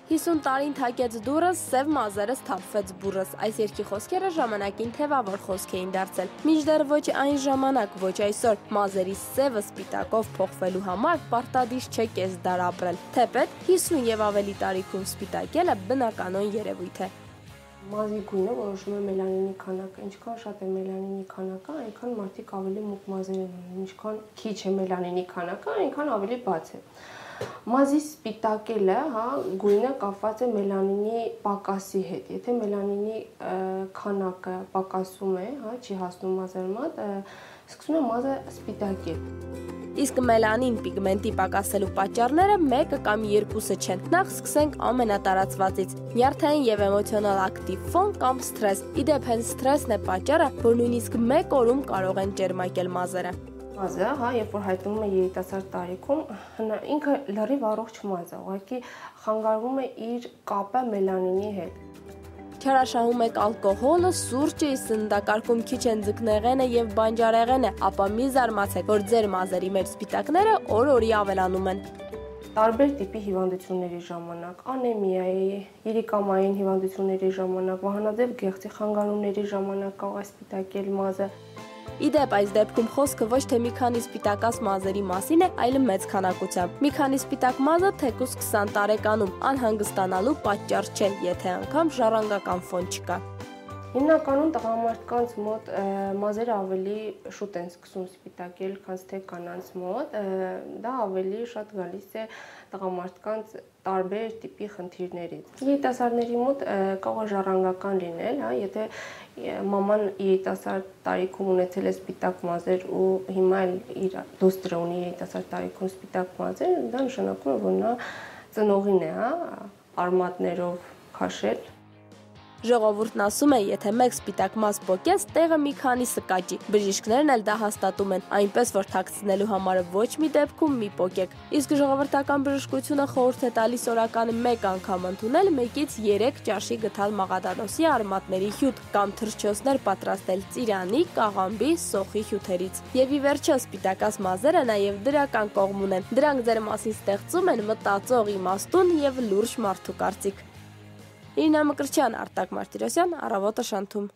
հիսուն տարին թակեց դուրս, սև մազերս թափվեց բուրս։ Այս երկի խոսքերը ժամանակին թևավոր խոսք էին դարձել։ Մինչդեռ ոչ այն ժամանակ, ոչ այսօր մազերի սևը սպիտակով փոխվելու համար պարտադիր չէ կես դար ապրել։ Թեպետ հիսուն եւ ավելի տարիքում սպիտակելը բնականon երևույթ է։ Մազի գույնը որոշում է մելանինի քանակը, ինչքան շատ է մելանինի քանակը, այնքան մարդիկ ավելի մուգ մազեր են ունենում, ինչքան քիչ է մելանինի քանակը, այնքան ավելի բաց է։ Մազի սպիտակելը, հա, գույնը կապված է մելանինի պակասի հետ։ Եթե մելանինի քանակը պակասում է, հա, չի հասնում մազերի մոտ, սկսում է մազը սպիտակել։ Իսկ մելանին պիգմենտի պակասելու պատճառները մեկը կամ երկուսը չեն։ Նախ սկսենք ամենատարածվածից՝ նյարդային եւ էմոցիոնալ ակտիվ ֆոն կամ սթրես։ Իդեպ հենց սթրեսն է պատճառը, որ նույնիսկ մեկ օրում կարող են ջերմակել մազերը։ Մազը, հա, երբ որ հայտնվում է երիտասարդ տարիքում, ինքը լրիվ առողջ մազ է, ուղղակի խանգարվում է իր կապը մելանինի հետ։ Չարաշահում եք ալկոհոլը, սուրճը, սննդակարգում քիչ են ձկնեղենը եւ բանջարեղենը, ապա մի զարմացեք, որ ձեր մազերի մեջ սպիտակները օր-օրի ավելանում են։ Տարբեր տիպի հիվանդությունների ժամանակ, անեմիայի, երիկամային հիվանդությունների ժամանակ, վահանաձև գեղձի խանգարումների ժամանակ կարող է սպիտակել մազը։ Իդեպ այս դեպքում խոսքը ոչ թե մի քանի սպիտակած մազերի մասին է, այլ մեծ քանակությամբ։ Մի քանի սպիտակ մազը թեկուզ քսան տարեկանում անհանգստանալու պատճառ չէ, եթե անգամ ժառանգական ֆոն չկա։ Հիմնականում տղամարդկանց մոտ մազերը ավելի շուտ են սկսում սպիտակել, քան թե կանանց մոտ, դա ավելի շատ գալիս է տղամարդկանց տարբեր տիպի խնդիրներից։ Երիտասարդների մոտ կարող է ժառանգական լինել, հա, եթե մաման երիտասարդ տարիքում ունեցել է սպիտակ մազեր ու հիմա էլ իր դուստրը ունի երիտասարդ տարիքում սպիտակ մազեր, դա նշանակում է, որ նա ծնողին է, հա, արմատներով քաշել։ Ժողովուրդն ասում է, եթե մեկ սպիտակ մազ պոկես, տեղը մի քանիսը կաճի։ Բժիշկներն էլ դա հաստատում են, այնպես որ թաքցնելու համար ոչ մի դեպքում մի պոկեք։ Իսկ ժողովրդական բժշկությունը խորհուրդ է տալիս օրականը մեկ անգամ ընդունել մեկից երեք ճաշի գթալ մաղադանոսի արմատների հյութ կամ թռչոցներ պատրաստել ծիրանի, կաղամբի, սոխի հյութերից։ Եվ ի վերջո սպիտակած մազերը նաև դրական կողմ ունեն։ Դրանք ձեր մասին ստեղծում են մտածող, իմաստուն եւ լուրջ մարդու կարծիք։ Իրինա Մկրտչյան, Արտակ Մարտիրոսյան, Առավոտը Շանթում։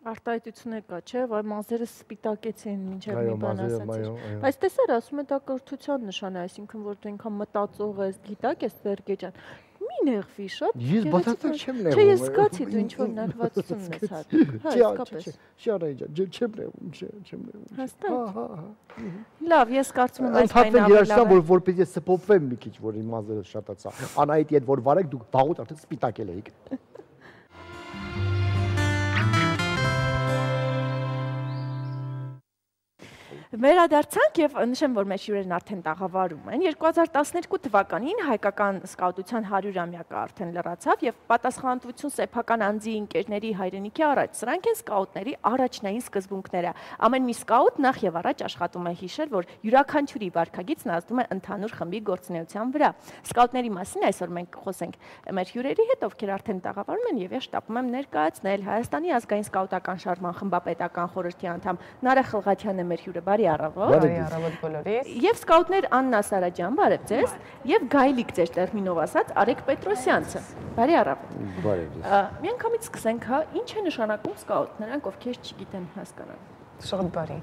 Արտահայտությունը կա, չէ, որ մազերը սպիտակեցին մինչև մի բան ասացի։ Բայց տեսար, ասում է դա կրթության նշան է, այսինքն որ դու ինքան մտածող ես, գիտակ ես, Սերգեյ ջան։ Մի նեղվի շատ։ Ես բացարձակ չեմ նեղվում։ Չէ, ես զգացի դու ինչ որ նեղվածություն ես հատ։ Հա, իսկապես։ Շարայ ջան, չեմ նեղվում, չեմ նեղվում։ Հաստատ։ Հա, հա, հա։ Լավ, ես կարծում եմ այս բանը ավելի որ որպես ես սփոփվեմ մի քիչ, որ իմ մազերը շատացա։ Անայտի հետ որ վարեք դուք բաղուտ արդեն սպիտակել եք։ Վերադարձանք եւ նշեմ, որ մեր հյուրերն արդեն տաղավարում են։ երկու հազար տասներկու թվականին հայկական սկաուտության հարյուրամյակը արդեն լրացավ եւ պատասխանատվություն սեփական անձի ընկերների հայրենիքի առաջ։ Սրանք են սկաուտների առաջնային սկզբունքները։ Ամեն մի սկաուտ նախ եւ առաջ աշխատում է հիշել, որ յուրաքանչյուրի վարքագիծն ազդում է ընդհանուր խմբի գործունեության վրա։ Սկաուտների մասին այսօր մենք խոսենք մեր հյուրերի հետ, ովքեր արդեն տաղավարում են եւ ես շտապում եմ ներկայացնել Հայաստանի ազգային սկաուտական շարժման խմբապետական խորհրդի անդամ Նարա Խլղաթյանը մեր հյուրը։ Բարի առավոտ։ Բարի առավոտ բոլորիս։ Եվ սկաուտներ Աննա Սարաջյան, բարև ձեզ, եւ Գայլիկ ձեր տերմինով ասած Արեգ Պետրոսյանցը։ Բարի առավոտ։ Բարև ձեզ։ Միանգամից սկսենք, հա, ինչ է նշանակում սկաուտ, նրանք ովքեր չգիտեն հասկանան։ Շատ բարի։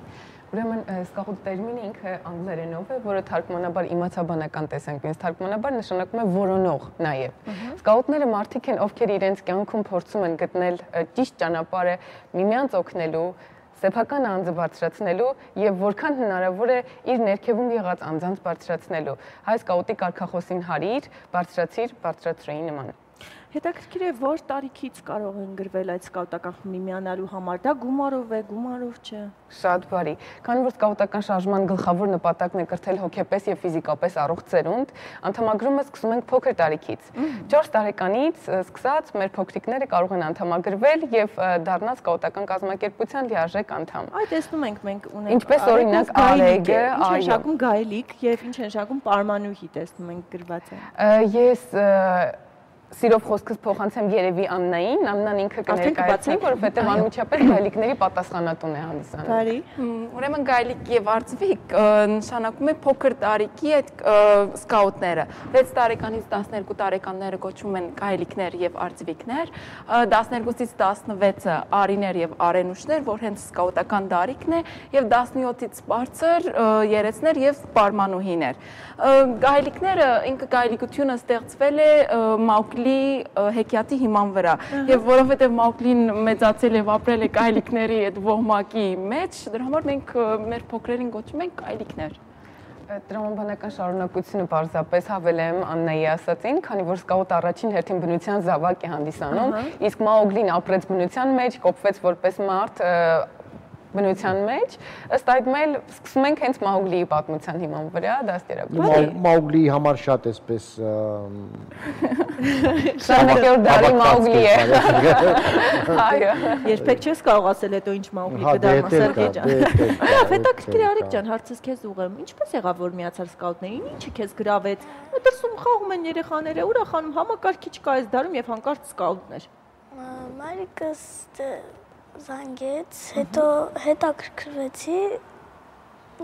Ուրեմն սկաուտ տերմինը ինքը անգլերենով է, որը թարգմանաբար իմացաբանական տեսանք, ինձ թարգմանաբար նշանակում է որոնող նաև։ Սկաուտները մարդիկ են, ովքեր իրենց կյանքում փորձում են գտնել ճիշտ ճանապարհը միմյանց օգնելու, սեփական անձը բարձրացնելու եւ որքան հնարավոր է իր ներքևում եղած անձանց բարձրացնելու։ Հայ սկաուտի կարգախոսին հարիր, բարձրացիր, բարձրացրեի նման։ Հետաքրքիր է, որ տարիքից կարող են գրվել այդ սկաուտական խմբի միանալու համար, դա գումարով է, գումարով չէ։ Շատ բարի։ Քանի որ սկաուտական շարժման գլխավոր նպատակն է կրթել հոգեպես եւ ֆիզիկապես առողջ ծերունդ, անդամագրումը սկսում ենք փոքր տարիքից։ չորս տարեկանից սկսած մեր փոքրիկները կարող են անդամագրվել եւ դառնալ սկաուտական կազմակերպության լիարժեք անդամ։ Այդ տեսնում ենք մենք ունենք։ Ինչպես օրինակ Արեգը, այո, նշանակում Գայլիկ եւ ինչ նշանակում Պարմանուհի տեսնում ենք գրված է։ Ես Սիրով խոսքս փոխանցեմ երևի Աննային, Աննան ինքը կներկայացնի, որովհետև անմիջապես գայլիկների պատասխանատուն է հանդիսանում։ Բարի։ Ուրեմն գայլիկ եւ արծվիկ նշանակում է փոքր տարիքի այդ սկաուտները։ վեց տարեկանից տասներկու տարեկանները կոչվում են գայլիկներ եւ արծվիկներ, տասներկուից տասնվեցը արիներ եւ արենուշներ, որ հենց սկաուտական տարիքն է, եւ տասնյոթից բարձր երեցներ եւ պարմանուհիներ։ Գայլիկները ինքը գայլիկությունը ստեղծվել է Մաուկլի Մաուգլի հեքիաթի հիման վրա։ Եվ որովհետև Մաուգլին մեծացել եւ ապրել է գայլիկների այդ ոհմակի մեջ, դրա համար մենք մեր փոքրերին գոչում ենք գայլիկներ։ Տրամաբանական շարունակությունը պարզապես հավելեմ Աննայի ասածին, քանի որ սկաուտը առաջին հերթին բնության զավակ է հանդիսանում, իսկ Մաուգլին ապրեց բնության մեջ, կոփվեց որպես մարդ բնության մեջ, ըստ այդմել սկսում ենք հենց Մաուգլիի պատմության հիման վրա դաստիարակել։ Մաուգլիի համար շատ էսպես քսաներորդ դարի Մաուգլի է։ Այո։ Երբեք չես կարող ասել հետո ինչ Մաուգլի կդառնա Սերգեյ ջան։ Լավ, հետաքրքիր Արիկ ջան, հարցս քեզ ուղղեմ։ Ինչպես եղավ որ միացար սկաուտներին, ինչը քեզ գրավեց։ Դրսում խաղում են երեխաները, ուրախանում, համակարգիչ կա այս դարում եւ հանկարծ սկաուտներ։ Մայրիկս զանգեց, հետո հետաքրքրվեցի,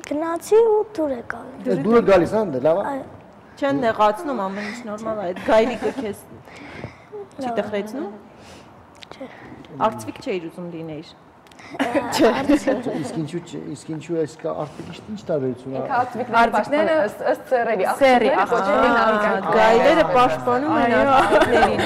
գնացի ու դուր եկա։ Դուրը գալիս ան դե լավ է։ Չեն նեղացնում, ամեն ինչ նորմալ է, այդ գայլիկը քեզ չի տխրեցնում։ Չէ։ Արծվիկ չէիր ուզում լինեիր։ Իսկ ինչու իսկ ինչու այս արծվիկի ինչ տարբերություն է։ Արծվիկները ըստ սերերի, սերի, գայլերը պաշտպանում են արծվիկներին։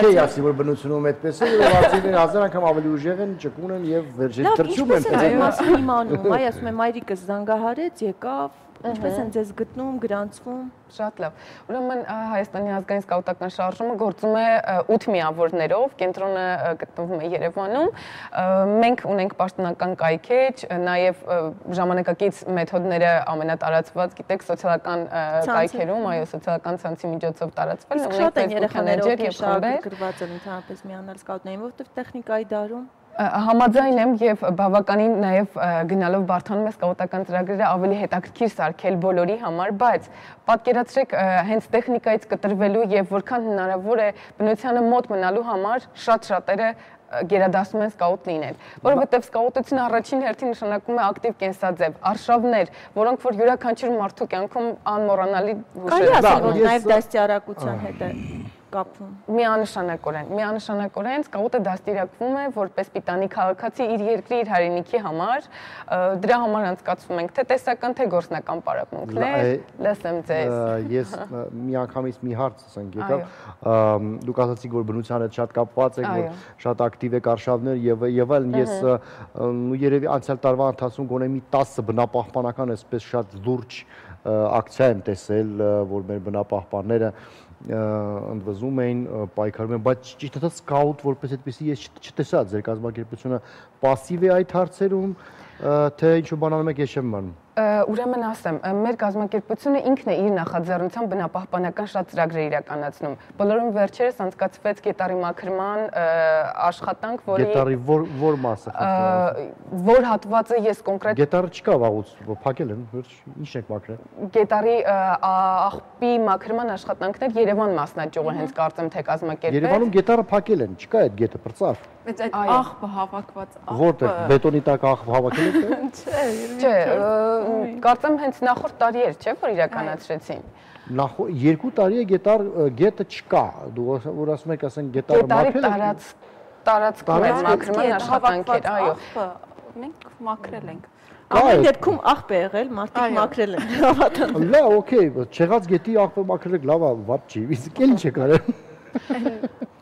Չէ, ասի որ բնությունում այդպես է, որ արծվիկները հազար անգամ ավելի ուժեղ են, ճկուն են եւ վերջին թրջում են։ Լավ, ինչպես է մասն իմանում, այ ասում եմ մայրիկս զանգահարեց, եկավ, ինչպես են ձեզ գտնում, գրանցվում։ Շատ լավ։ Ուրեմն Հայաստանի ազգային սկաուտական շարժումը գործում է ութ միավորներով, կենտրոնը գտնվում է Երևանում։ Մենք ունենք պաշտոնական կայքեջ, նաև ժամանակակից մեթոդները ամենատարածված, գիտեք, սոցիալական կայքերում, այո, սոցիալական ցանցի միջոցով տարածվել, ունենք Facebook Messenger եւ խմբեր, գրված են ընդհանրապես միանալ սկաուտներին, որովհետեւ տեխնիկայի դարում Համաձայն եմ եւ բավականին նաեւ գնալով բարթանում է սկաուտական ծրագրերը ավելի հետաքրքիր սարքել բոլորի համար, բայց պատկերացրեք հենց տեխնիկայից կտրվելու եւ որքան հնարավոր է բնությանը մոտ մնալու համար շատ շատերը գերադասում են սկաուտ լինել, որովհետև սկաուտությունը առաջին հերթին նշանակում է ակտիվ կենսաձև, արշավներ, որոնք որ յուրաքանչյուր մարդու կյանքում անմոռանալի հուշեր են։ Կարելի ասել, որ նաև դաստիարակության հետ է կապվում։ Միանշանակորեն, միանշանակորեն սկաուտը դաստիարակվում է որպես պիտանի քաղաքացի իր երկրի, իր հայրենիքի համար, դրա համար անցկացվում ենք թե տեսական, թե գործնական պարապմունքներ, լսեմ ձեզ։ Ես միանգամից մի հարց ասենք եկավ, դուք ասացիք, որ բնությանը շատ կապված եք, որ շատ ակտիվ եք արշավներ եւ եւ այլն, ես երևի անցյալ տարվա ընթացքում գոնե մի տասը բնապահպանական այսպես շատ լուրջ ակցիա եմ տեսել, որ մեր բնապահպանները ընդվզում էին, պայքարում են, բայց ճիշտ ասած սկաուտ որպես այդպեսի ես չտեսա ձեր կազմակերպությունը պասիվ է այդ հարցերում, թե ինչ-որ բան անում եք, ես չեմ իմանում։ Ուրեմն ասեմ, մեր կազմակերպությունը ինքն է իր նախաձեռնությամբ բնապահպանական շատ ծրագրեր իրականացնում։ Բոլորում վերջերս անցկացվեց գետառի մաքրման աշխատանք, որի Գետառի որ մասը խնդրում։ Որ հատվածը ես կոնկրետ Գետառը չկա վաղուց, փակել են, ի՞նչ եք մաքրել։ Գետառի աղբի մաքրման աշխատանքներ Երևան մասնաճյուղը հենց կարծեմ թե կազմակերպել։ Երևանում գետառը փակել են, չկա այդ գետը պրծավ։ Բայց այդ աղբը հավաքված աղբը Որտեղ բետոնի տակ աղբ հավաքել եք։ Չէ, կարծեմ հենց նախորդ տարի էր, չէ՞ որ իրականացրեցին։ Երկու տարի է գետար գետը չկա։ Դու որ ասում եք, ասենք գետարը մաքրել է։ Տարածքում է մաքրման աշխատանքեր, այո։ Մենք մաքրել ենք։ Ամեն դեպքում աղբ է եղել, մարդիկ մաքրել են, հավատան։ Լավ, օքեյ, չեղած գետի աղբը մաքրել եք, լավ է, վատ չի, իսկ էլ ինչ է կարել։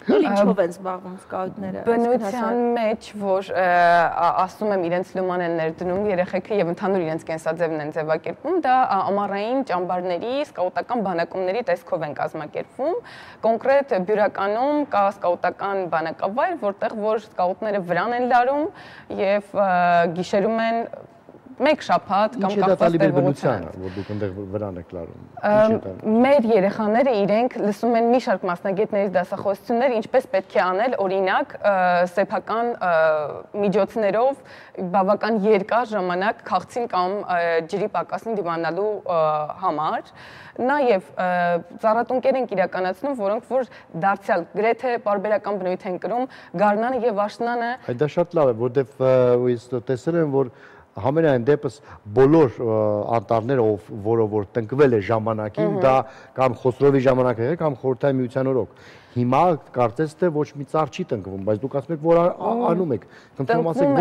Ինչով են զբաղվում սկաուտները։ Բնության մեջ, որ ասում եմ իրենց լուման են ներդնում երեխեքը եւ ընդհանուր իրենց կենսաձևն են ձևակերպում, դա ամառային ճամբարների, սկաուտական բանակումների տեսքով են կազմակերպվում։ Կոնկրետ Բյուրականում կա սկաուտական բանակավայր, որտեղ որ սկաուտները վրան են լարում եւ գիշերում են մեկ շաբաթ կամ կապված բնությանը, որ դուք այնտեղ վրան եք լարում։ Մեր երեխաները իրենք լսում են մի շարք մասնագետներից դասախոսություններ, ինչպես պետք է անել, օրինակ, սեփական միջոցներով բավական երկար ժամանակ քաղցին կամ ջրի պակասին դիմանալու համար։ Նաև ծառատունկեր ենք իրականացնում, որոնք որ դարձյալ գրեթե պարբերական բնույթ են կրում գարնանը եւ աշնանը։ Այդ դա շատ լավ է, որովհետեւ ես տեսել եմ, որ Համենայն դեպս բոլոր անտառները, որը որ տնկվել է ժամանակին, դա կամ Խոսրովի ժամանակ է, կամ Խորհրդային Միության օրոք։ հիմա կարծես թե ոչ մի ծառ չի տնկվում, բայց դուք ասում եք, որ անում եք։ Տնկվում են,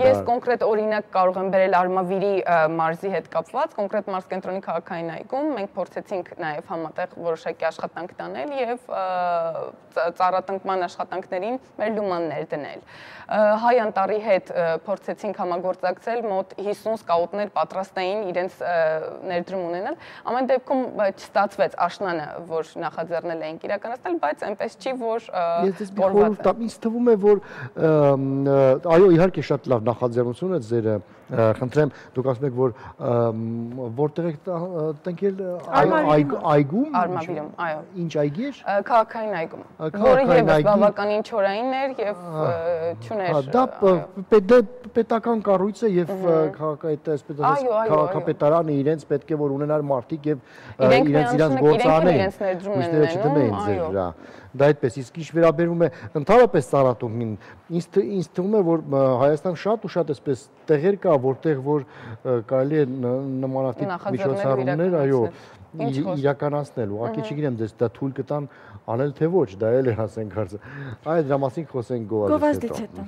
ես կոնկրետ օրինակ կարող եմ բերել Արմավիրի մարզի հետ կապված, կոնկրետ մարզկենտրոնի քաղաքային այգում մենք փորձեցինք նաև համատեղ որոշակի աշխատանք տանել եւ ծառատնկման աշխատանքներին մեր լումաններ դնել։ Հայ Անտառի հետ փորձեցինք համագործակցել, մոտ հիսուն սկաուտներ պատրաստ էին իրենց ներդրում ունենալ։ Ամեն դեպքում չստացվեց աշնանը, որ նախաձեռնել էինք իրականացնել, բայց այնպես չի, որ կորված է։ Ինձ թվում է, որ այո, իհարկե շատ լավ նախաձեռնություն է ձերը, խնդրեմ, դուք ասում եք, որ որտեղ եք տնկել այգում։ Արմավիրում, այո։ Ինչ այգի էր։ Քաղաքային այգում, որը եւս բավականին չորային էր եւ չուներ։ Դա պետական կառույց է եւ քաղաքապետարանը իրենց պետք է որ ունենար մարդիկ եւ իրենց իրենց գործարաններ չդնեին ձեր վրա։ Դա այդպես, իսկ ինչ վերաբերում է ընդհանրապես ծառատունքին, ինձ թվում է, որ Հայաստան շատ ու շատ էսպես տեղեր կա, որտեղ որ կարելի է նմանատիպ միջոցառումներ, այո, իրականացնել, ուղղակի չգիտեմ, դες դա թույլ կտան անել թե ոչ, դա էլ է ասենք հարցը։ Այ դրա մասին խոսենք Գովազդից հետո։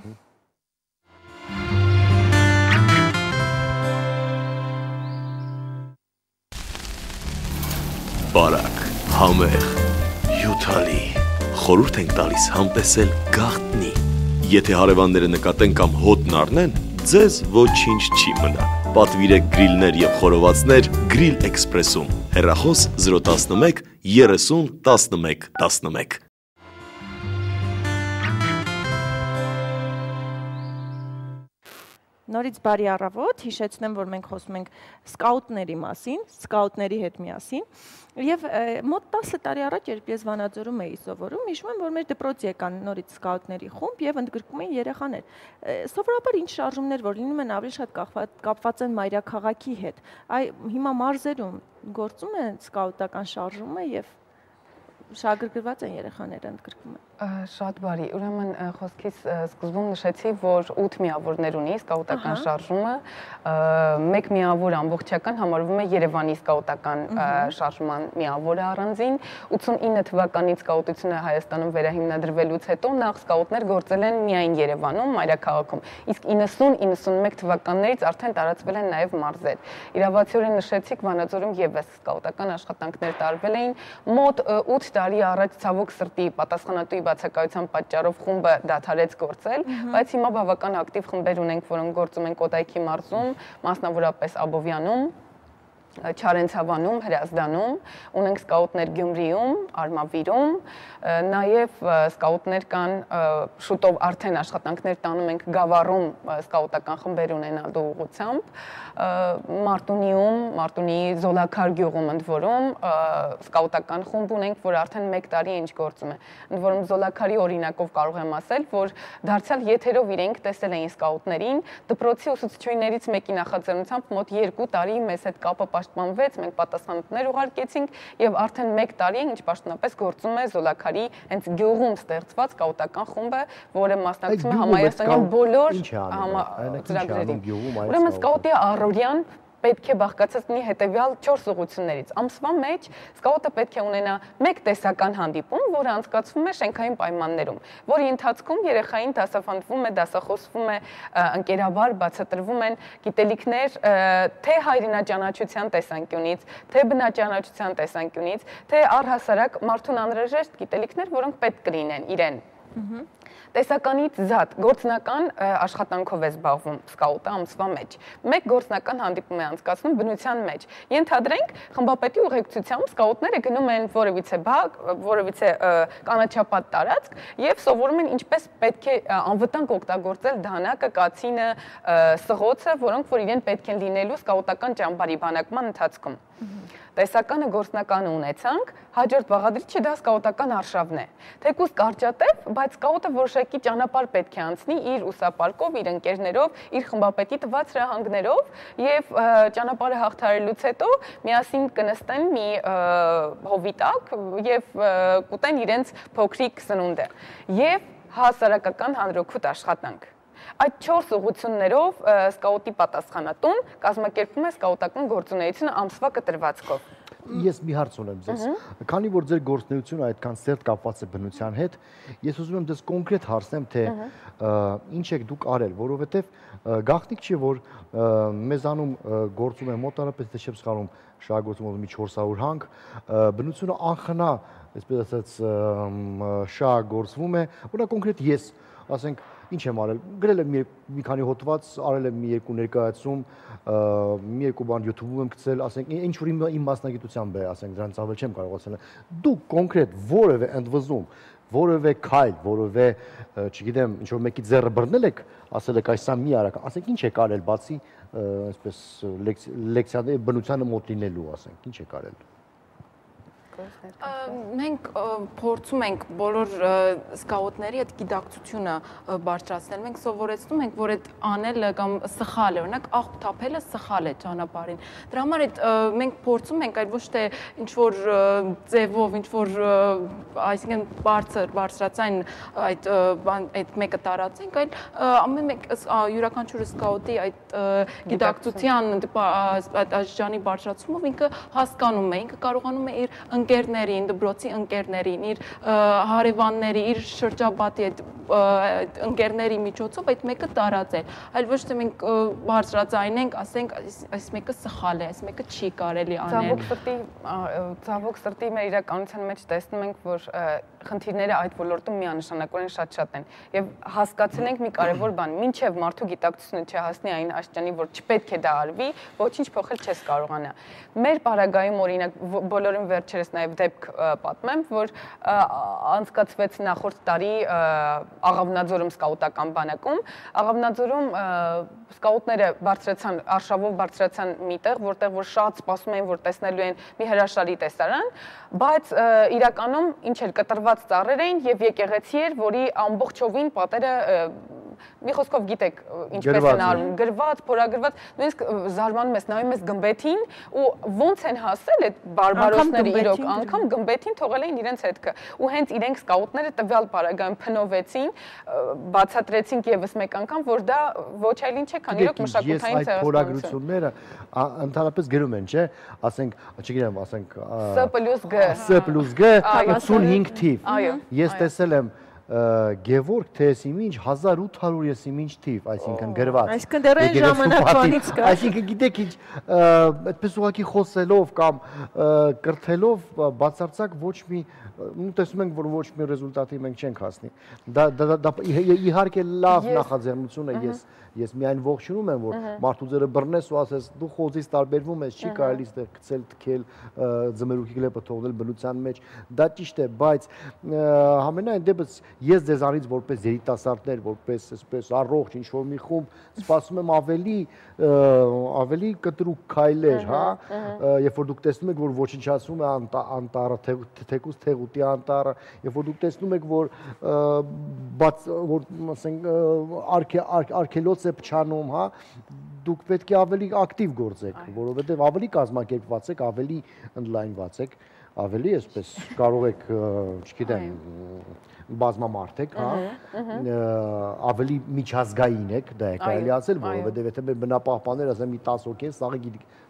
Բարակ, համեղ, հյութալի, խորհուրդ ենք տալիս համտեսել գաղտնի։ Եթե հարևանները նկատեն կամ հոտն առնեն, ձեզ ոչինչ չի մնա։ Պատվիրեք գրիլներ եւ խորովածներ Grill Express-ում։ Հեռախոս զրո տասնմեկ երեսուն տասնմեկ տասնմեկ։ Նորից բարի առավոտ, հիշեցնեմ, որ մենք խոսում ենք սկաուտների մասին, սկաուտների հետ միասին, եւ մոտ տասը տարի առաջ, երբ ես Վանաձորում էի սովորում, հիշում եմ, որ մեր դպրոցի եկան նորից սկաուտների խումբ եւ ընդգրկում էին երեխաներ։ Սովորաբար ինչ շարժումներ, որ լինում են ավելի շատ կապված են մայրաքաղաքի հետ։ Այ հիմա մարզերում գործում է սկաուտական շարժումը եւ շահագրգռված են երեխաները ընդգրկում են։ Շատ բարի, ուրեմն խոսքից սկզբում նշեցի, որ ութ միավորներ ունի սկաուտական շարժումը, մեկ միավոր ամբողջական համարվում է Երևանի սկաուտական շարժման միավորը առանձին, ութսունինը թվականից սկաուտությունը Հայաստանում վերահիմնադրվելուց հետո նախ սկաուտներ գործել են միայն Երևանում, մայրաքաղաքում, իսկ իննսուն իննսունմեկ թվականներից արդեն տարածվել են նաև մարզեր։ Իրավացիորեն նշեցիք, Վանաձորում եւս սկաուտական աշխատանքներ տարվել էին, մոտ ութ տարի առաջ ցավոք սրտի պատասխանատուի բացակայության պատճառով խումբը դադարեց գործել, բայց հիմա բավական ակտիվ խմբեր ունենք, որոնք գործում են Կոտայքի մարզում, մասնավորապես Աբովյանում, Չարենցավանում, Հրազդանում, ունենք սկաուտներ Գյումրիում, Արմավիրում, նաև սկաուտներ կան, շուտով արդեն աշխատանքներ տանում ենք Գավառում սկաուտական խմբեր ունենալու ուղղությամբ, Մարտունիում, Մարտունիի Զոլաքար գյուղում ընդ որում սկաուտական խումբ ունենք, որ արդեն մեկ տարի ինչ գործում է։ Ընդ որում Զոլաքարի օրինակով կարող եմ ասել, որ դարձյալ եթերով իրենք տեսել էին սկաուտներին, դպրոցի ուսուցչուհիներից մեկի նախաձեռնությամբ մոտ երկու տարի մեզ հետ կապը պաշտպանվեց, մենք պատասխանատուներ ուղարկեցինք եւ արդեն մեկ տարի ինչ պաշտոնապես գործում է Զոլաքարի հենց գյուղում ստեղծված սկաուտական խումբը, որը մասնակցում է համայնքային բոլոր ծրագրերին։ Ուրեմն սկաուտի առօրյան պետք է բաղկացած լինի հետևյալ չորս ուղղություններից։ Ամսվա մեջ սկաուտը պետք է ունենա մեկ տեսական հանդիպում, որը անցկացվում է շենքային պայմաններում, որի ընթացքում երեխային դասավանդվում է, դասախոսվում է, ընկերաբար բացատրվում են գիտելիքներ թե հայրենաճանաչության տեսանկյունից, թե բնաճանաչության տեսանկյունից, թե առհասարակ մարդուն անհրաժեշտ գիտելիքներ, որոնք պետք կլինեն իրեն։ Տեսականից զատ գործնական աշխատանքով է զբաղվում սկաուտը ամսվա մեջ։ Մեկ գործնական հանդիպում է անցկացնում բնության մեջ։ Ենթադրենք, խմբապետի ուղեկցությամբ սկաուտները գնում են որևիցե բակ, որևիցե կանաչապատ տարածք եւ սովորում են ինչպես պետք է անվտանգ օգտագործել դանակը, կացինը, սղոցը, որոնք որ իրեն պետք են լինելու սկաուտական ճամբարի բանակման ընթացքում։ Տեսականը գործնականը ունեցանք, հաջորդ բաղադրիչը դա սկաուտական արշավն է։ Թեկուզ կարճատև, բայց սկաուտը որոշակի ճանապարհ պետք է անցնի իր ուսապարկով, իր ընկերներով, իր խմբապետի տված հրահանգներով եւ ճանապարհը հաղթահարելուց հետո միասին կնստեն մի հովի տակ եւ կուտեն իրենց փոքրիկ սնունդը եւ հասարակական հանրօգուտ աշխատանք։ Այդ չորս ուղղություններով սկաուտի պատասխանատուն կազմակերպում է սկաուտական գործունեությունը ամսվա կտրվածքով։ Ես մի հարց ունեմ ձեզ։ Քանի որ ձեր գործունեությունը այդքան սերտ կապված է բնության հետ, ես ուզում եմ ձեզ կոնկրետ հարցնեմ, թե ինչ եք դուք արել, որովհետև գաղտնիք չի, որ մեզանում գործում է մոտարապես, թե չեմ սխալվում, շահագործում մի չորս հարյուր հանք, բնությունը անխնա, այսպես ասած, շահագործվում է, որը կոնկրետ ես, ասենք, ինչ եմ արել, գրել եմ մի քանի հոդված, արել եմ մի երկու ներկայացում, մի երկու բան YouTube-ում եմ գցել, ասենք, ինչ որ իմ մասնագիտությամբ է, ասենք, դրանից ավել չեմ կարող ասել։ Դուք կոնկրետ որևէ ընդվզում, որևէ քայլ, որևէ, չգիտեմ, ինչ որ մեկի ձեռը բռնել եք, ասել եք այս սա մի արական, ասենք, ինչ եք արել, բացի այսպես լեկցիաների բնությանը մոտ լինելու, ասենք, ինչ եք արել։ Մենք փորձում ենք բոլոր սկաուտների այդ գիտակցությունը բարձրացնել։ Մենք սովորեցնում ենք, որ այդ անելը կամ սխալ է, օրինակ աղբ թափելը սխալ է ճանապարհին։ Դրա համար այդ մենք փորձում ենք այլ ոչ թե ինչ որ ձևով, ինչ որ այսինքն բարձր, բարձրացային այդ այդ մեկը տարածենք, այլ ամեն մեկ յուրաքանչյուր սկաուտի այդ գիտակցության այդ աշխանի բարձրացումով ինքը հասկանում է, ինքը կարողանում է իր ընկերներին, դպրոցի ընկերներին, իր հարևանների, իր շրջապատի այդ ընկերների միջոցով այդ մեկը տարածել, այլ ոչ թե մենք բարձրացնենք, ասենք, այս մեկը սխալ է, այս մեկը չի կարելի անել։ Ցավոք սրտի, ցավոք սրտի մեր իրականության մեջ տեսնում ենք, որ խնդիրները այդ ոլորտում միանշանակորեն շատ-շատ են եւ հասկացել ենք մի կարեւոր բան, մինչեւ մարդու գիտակցությունը չհասնի այն աշխարհին, որ չպետք է դա արվի, ոչինչ փոխել չես կարողանա։ Մեր պարագայում օրինակ բոլորին վերջերս նաեւ դեպք պատմեմ, որ անցկացվեց նախորդ տարի Աղավնաձորում սկաուտական բանակում, Աղավնաձորում սկաուտները բարձրացան, արշավով բարձրացան մի տեղ, որտեղ որ շատ սպասում էին, որ տեսնելու են մի հրաշալի տեսարան, բայց իրականում ինչ էլ կտրված ծառեր էին եւ եկեղեցի էր, որի ամբողջովին պատերը մի խոսքով գիտեք ինչպես են արվում, գրված, փորագրված, նույնիսկ զարմանում ես, նայում ես գմբեթին ու ոնց են հասել այդ բարբարոսները իրոք, անգամ գմբեթին թողել էին իրենց հետքը։ Ու հենց իրենք սկաուտները տվյալ պարագայում փնովեցին, բացատրեցին եւս մեկ անգամ, որ դա ոչ այլ ինչ է, քան իրոք մշակութային ցեղասպանություն։ Ես այդ փորագրությունները ընդհանրապես գրում են, չէ՞, ասենք, չգիտեմ, ասենք S plus G S plus G ութսունհինգ թիվ։ Ես տեսել եմ Գևորգ Թեսիմինչ հազար ութ հարյուր եսիմինչ թիվ, այսինքն գրված։ Այսինքն դեռ այն ժամանակվանից կա։ Այսինքն գիտեք ինչ, այդպես ուղղակի խոսելով կամ կրթելով բացարձակ ոչ մի, տեսնում ենք, որ ոչ մի ռեզուլտատի մենք չենք հասնի։ Դա իհարկե լավ նախաձեռնություն է, ես ես միայն ողջունում եմ, որ մարդու ձերը բռնես ու ասես դու խոզից տարբերվում ես, չի կարելի ստեղ գցել, թքել, ձմերուկի գլեպը թողնել բնության մեջ, դա ճիշտ է, բայց համենայն դեպս ես ձեզանից որպես երիտասարդներ, որպես այսպես առողջ ինչ-որ մի խումբ, սպասում եմ ավելի ավելի կտրուկ քայլեր, հա, երբ որ դուք տեսնում եք, որ ոչնչացում է անտառը, թեկուզ Թեղուտի անտառը, երբ որ դուք տեսնում եք, որ բաց որ ասենք արգելոց է փչանում, հա, դուք պետք է ավելի ակտիվ գործեք, որովհետև ավելի կազմակերպված եք, ավելի ընդլայնված եք, ավելի այսպես կարող եք, չգիտեմ, բազմամարդ եք, հա, ավելի միջազգային եք, դա է կարելի ասել, որովհետև եթե մեր բնապահպանները ասեն մի տասը հոգի են,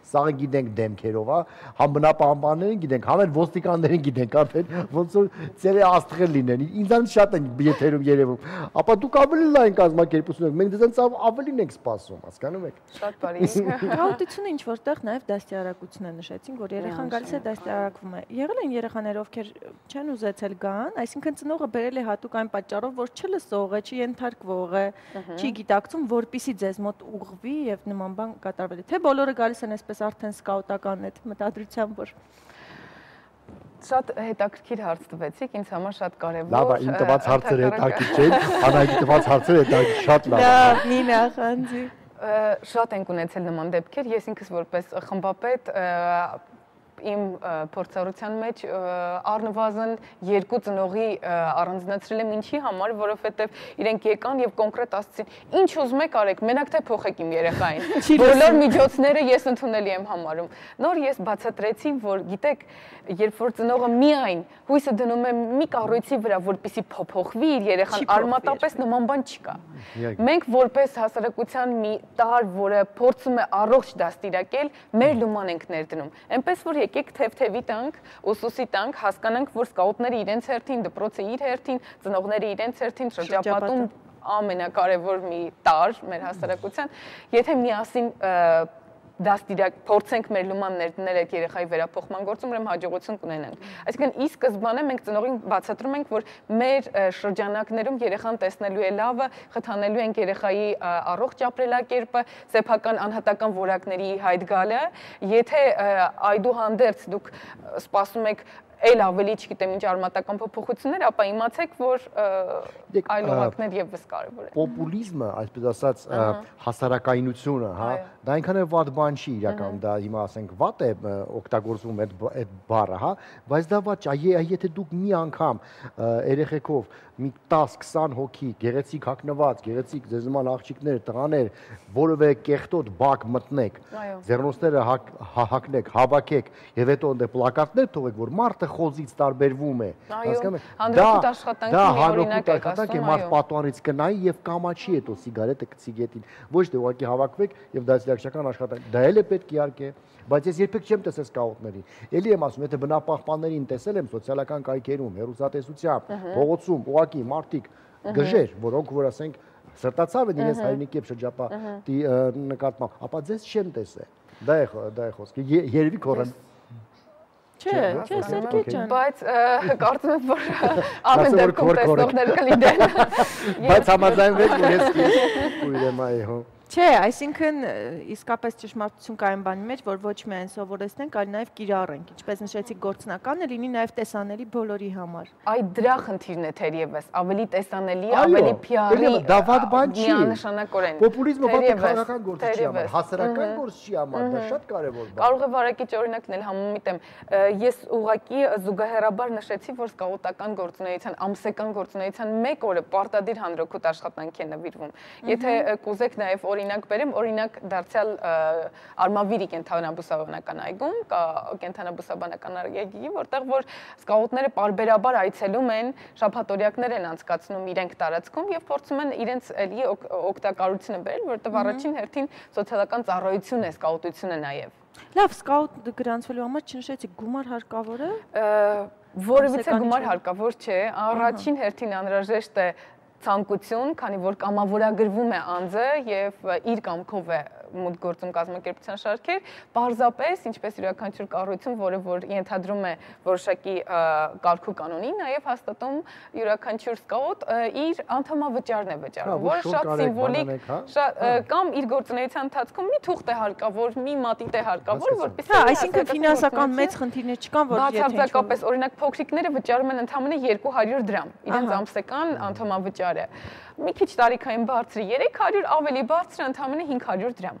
սաղը գիտենք դեմքերով, հա, համ բնապահպաններին գիտենք, համ էլ ոստիկաններին գիտենք, արդեն ոնց որ ծերը աստղեր լինեն, ինձանից շատ են եթերում երևում, ապա դուք ավելի լայն կազմակերպություն եք, մենք դրանց ավելին ենք սպասում, հասկանում եք։ Շատ բարի։ Գաղութությունը ինչ որտեղ նաև դաստիարակություն է նշեցին, որ երեխան գալիս է դաստիարակվում է։ Եղել են երեխաներ, ովքեր չեն ուզեցել գան, այսինքն ծնողը բերել է հատուկ այն պատճառով, որ չլսող է, չի ենթարկվող է, չի գիտակցում, որպիսի ձեզ մոտ ուղղվի եւ նման բան կատարվի։ Թե բոլորը գալիս են այսպես արդեն սկաուտական այդ մտադրությամբ, որ Շատ հետաքրքիր հարց տվեցիք, ինձ համար շատ կարևոր։ Լավ, իմ տված հարցերը հետաքրքիր չեն, Անահիտի տված հարցերը հետաքրքիր, շատ լավ։ Լավ, մի նախանձի։ Շատ ենք ունեցել նման դեպքեր, ես ինքս որպես խմբապետ իմ փորձառության մեջ առնվազն երկու ծնողի առանձնացրել եմ ինչի համար, որովհետև իրենք եկան եւ կոնկրետ ասացին, ինչ ուզում եք արեք, մենակ թե փոխեք իմ երեխային։ Բոլոր միջոցները ես ընդունելի եմ համարում։ Նոր ես բացատրեցի, որ գիտեք, երբ որ ծնողը միայն հույսը դնում է մի կառույցի վրա, որպեսզի փոփոխվի իր երեխան, արմատապես նման բան չկա։ Մենք որպես հասարակության մի տար, որը փորձում է առողջ դաստիարակել, մեր լուման ենք ներդնում։ Էնպես որ եկեք թեթևի տանք, ուսուսի տանք, հասկանանք, որ սկաուտները իրենց հերթին, դպրոցը իր հերթին, ծնողները իրենց հերթին շրջապատում ամենակարևոր մի տար մեր հասարակության, եթե միասին դաստիարակ փորձենք մեր լուման ներդնել այդ երեխայի վերափոխման գործում, ուրեմն հաջողություն կունենանք։ Այսինքն ի սկզբանե մենք ծնողին բացատրում ենք, որ մեր շրջանակներում երեխան տեսնելու է լավը, խթանելու ենք երեխայի առողջ ապրելակերպը, սեփական անհատական որակների հայտ գալը, եթե այդուհանդերձ դուք սպասում եք այլ ավելի, չգիտեմ, ինչ արմատական փոփոխություններ, ապա իմացեք, որ այլ օղակներ եւս կարևոր են։ Պոպուլիզմը, այսպես ասած, հասարակայնությունը, հա, դա այնքան է վատ բան չի իրական, դա հիմա ասենք վատ է օգտագործվում այդ այդ բառը, հա, բայց դա վատ չէ, եթե դուք մի անգամ երեխեքով մի տասը քսան հոգի, գեղեցիկ հագնված, գեղեցիկ ձեզ նման աղջիկներ, տղաներ, որևէ կեղտոտ բակ մտնեք, ձեռնոցները հագնեք, հավաքեք եւ հետո ընդ պլակատներ թողեք, որ մարդը խոզից տարբերվում է, հասկանում եք։ Հանրապետ աշխատանքի մի օրինակ է, աշխատանք է, մարդ պատուանից կնայի եւ կամաչի հետո սիգարետը գցի գետին, ոչ թե ուղղակի հավաքվեք եւ դասյարակչական աշխատանք, դա էլ է պետք իհարկե, բայց ես երբեք չեմ տեսել սկաուտներին։ Էլի եմ ասում, եթե բնապահպաններին տեսել եմ սոցիալական կայքերում, հեռուստատեսությամբ, փողոցում, ուղղակի մարդիկ գժեր, որոնք որ ասենք սրտացավ են իրենց հայրենիքի եւ շրջապատի նկատմամբ, ապա ձեզ չեմ տեսել։ Դա է դա է խոսքը։ Երևի քորեն Չէ, չէ, Սերգեյ ջան, բայց կարծում եմ, որ ամեն դեպքում տեսնողներ կլինեն։ Բայց համաձայնվեք, ես կույրեմ այո։ Չէ, այսինքն իսկապես ճշմարտություն կա այն բանի մեջ, որ ոչ միայն սովորեցնենք, այլ նաև կիրառենք, ինչպես նշեցիք, գործնականը լինի նաև տեսանելի բոլորի համար։ Այ դրա խնդիրն է թերևս, ավելի տեսանելի, ավելի փիարի, դա վատ բան չի։ Միանշանակորեն։ Պոպուլիզմը վատ քաղաքական գործ չի համար, հասարակական գործ չի համար, դա շատ կարևոր բան։ Կարող է վարակիչ օրինակ լինել, համեմիտ եմ։ Ես ուղղակի զուգահեռաբար նշեցի, որ սկաուտական գործունեության, ամսական գործունեության մեկ օրը պարտադիր հանրօգուտ աշխատանքի է նվիրվում։ Եթե կուզեք նաև օրինակ բերեմ, օրինակ դարձյալ Արմավիրի կենթանաբուսաբանական այգում կա կենթանաբուսաբանական այգի, որտեղ որ սկաուտները պարբերաբար այցելում են, շաբաթօրյակներ են անցկացնում իրենք տարածքում եւ փորձում են իրենց էլի օգտակարությունը բերել, որտեղ առաջին հերթին սոցիալական ծառայություն է սկաուտությունը նաեւ։ Լավ, սկաուտ գրանցվելու համար չնշեցիք գումար հարկավոր է։ Որևիցե գումար հարկավոր չէ, առաջին հերթին անհրաժեշտ է ցանկություն, քանի որ կամավորագրվում է անձը եւ իր կամքով է մուտք գործում կազմակերպության շարքեր, պարզապես ինչպես յուրաքանչյուր կառույցում, որը որ ենթադրում է որոշակի կարգու կանոնի, նաեւ հաստատում յուրաքանչյուր սկաուտ իր անդամավճարն է վճարում, որը շատ սիմվոլիկ, կամ իր գործունեության ընթացքում մի թուղթ է հարկավոր, մի մատիտ է հարկավոր, որպեսզի հա, այսինքն ֆինանսական մեծ խնդիրներ չկան, որ եթե բացարձակապես օրինակ փոքրիկները վճարում են ընդամենը երկու հարյուր դրամ, իրենց ամսական անդամավճարը։ Մի քիչ տարիքային բարձր երեք հարյուր, ավելի բարձր ընդամենը հինգ հարյուր դրամ։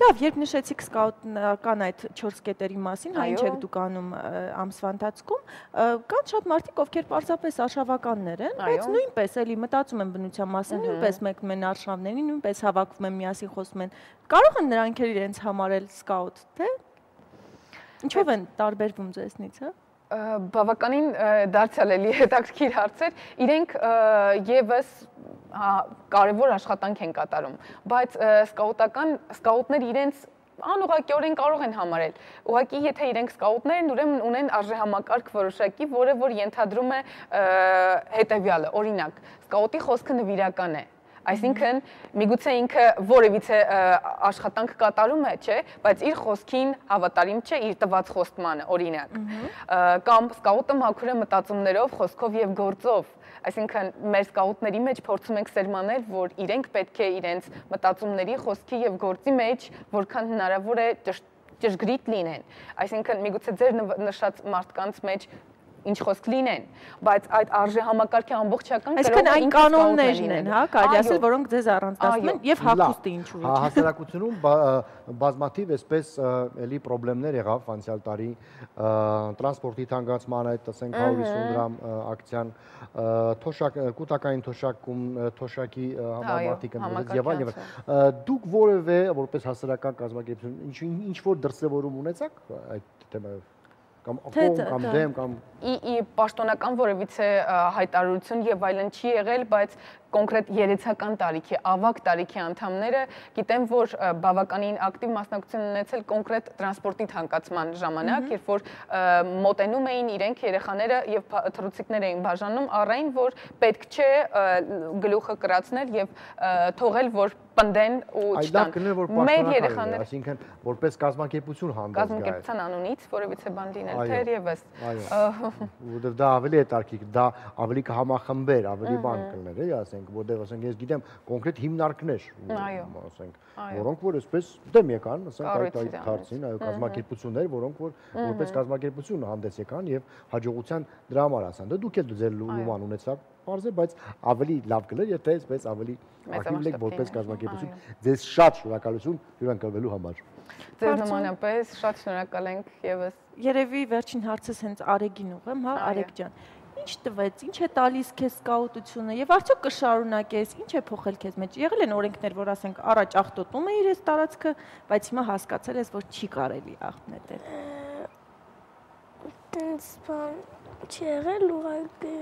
Լավ, երբ նշեցիք սկաուտական այդ չորս կետերի մասին, հա ինչ եք դուք անում ամսվա ընթացքում, կան շատ մարդիկ, ովքեր պարզապես արշավականներ են, բայց նույնպես էլի մտածում են բնության մասին, նույնպես մեկնում են արշավներին, նույնպես հավաքվում են միասին խոսում են։ Կարող են նրանք էլ իրենց համարել սկաուտ, թե ինչով են տարբերվում ձեզնից, հա։ Բավականին դարձյալ էլի հետաքրքիր հարցեր, իրենք եւս կարևոր աշխատանք են կատարում, բայց սկաուտական սկաուտներ իրենց անուղղակիորեն կարող են համարել։ Ուղղակի եթե իրենք սկաուտներ են, ուրեմն ունեն արժեհամակարգ որոշակի, որը որ ենթադրում է հետեւյալը, օրինակ, սկաուտի խոսքը նվիրական է։ Այսինքն միգուցե ինքը որևիցե աշխատանք կատարում է, չէ, բայց իր խոսքին հավատարիմ չէ իր տված խոստմանը, օրինակ։ Կամ սկաուտը մաքուր է մտածումներով, խոսքով եւ գործով։ Այսինքն մեր սկաուտների մեջ փորձում ենք սերմանել, որ իրենք պետք է իրենց մտածումների, խոսքի եւ գործի մեջ որքան հնարավոր է ճշգրիտ լինեն։ Այսինքն միգուցե ձեր նշած մարդկանց մեջ ինչ խոսք լինեն, բայց այդ արժե համակարգի ամբողջական այսինքն այն կանոններն են, հա, կարելի ասել, որոնք ձեզ առանձնացնում են եւ հագուստը ինչու ոչ։ Հասարակությունում բազմաթիվ այսպես էլի խնդիրներ եղավ անցյալ տարի տրանսպորտի թանկացման այդ ասենք հարյուր հիսուն դրամ ակցիան, թոշակ կൂട്ടակային թոշակում թոշակի համամարտիկ ընդդիմաց եւ այլն եւ դուք որևէ որպես հասարակական կազմակերպություն ինչ որ դրսևորում ունեցաք այդ թեմայով կամ ակոմ կամ դեմ կամ ի պաշտոնական որևիցե հայտարարություն եւ այլն չի եղել, բայց կոնկրետ երեցական տարիքի, ավագ տարիքի անդամները գիտեմ, որ բավականին ակտիվ մասնակցություն ունեցել կոնկրետ տրանսպորտի թանկացման ժամանակ, երբ որ մոտենում էին իրենք երեխաները եւ թռուցիկներ էին բաժանում, առայն որ պետք չէ գլուխը կրացնել եւ թողել, որ պնդեն ու չտան։ Մեր երեխաները, այսինքն որպես կազմակերպություն հանդես գա։ Կազմակերպության անունից որևիցե բան լինել թերևս։ Որովհետեւ դա ավելի է տարկիկ, դա ավելի կհամախմբեր, ավելի բան կլներ, էլի ասենք, որտեղ ասենք ես գիտեմ կոնկրետ հիմնարկներ, ասենք, որոնք որ այսպես դեմ եկան, ասենք այդ այդ հարցին, այո, կազմակերպություններ, որոնք որ որպես կազմակերպություն հանդես եկան եւ հաջողության դրա համար ասան։ Դա դուք էլ ձեր լուման ունեցաք, բարձր, բայց ավելի լավ կլեր, եթե այսպես ավելի ակտիվ եք որպես կազմակերպություն։ Ձեզ շատ շնորհակալություն հյուրընկալվելու համար։ Ձեզ նմանապես շատ շնորհակալ ենք եւս։ Երևի վերջին հարցս հենց Արեգին ուղեմ, հա, Արեգ ջան։ Ինչ տվեց, ինչ է տալիս քեզ սկաուտությունը եւ արդյոք կշարունակես, ինչ է փոխել քեզ մեջ։ Եղել են օրենքներ, որ ասենք առաջ աղտոտում էիր այս տարածքը, բայց հիմա հասկացել ես, որ չի կարելի աղտնել։ Տենց բան չի եղել ուղղակի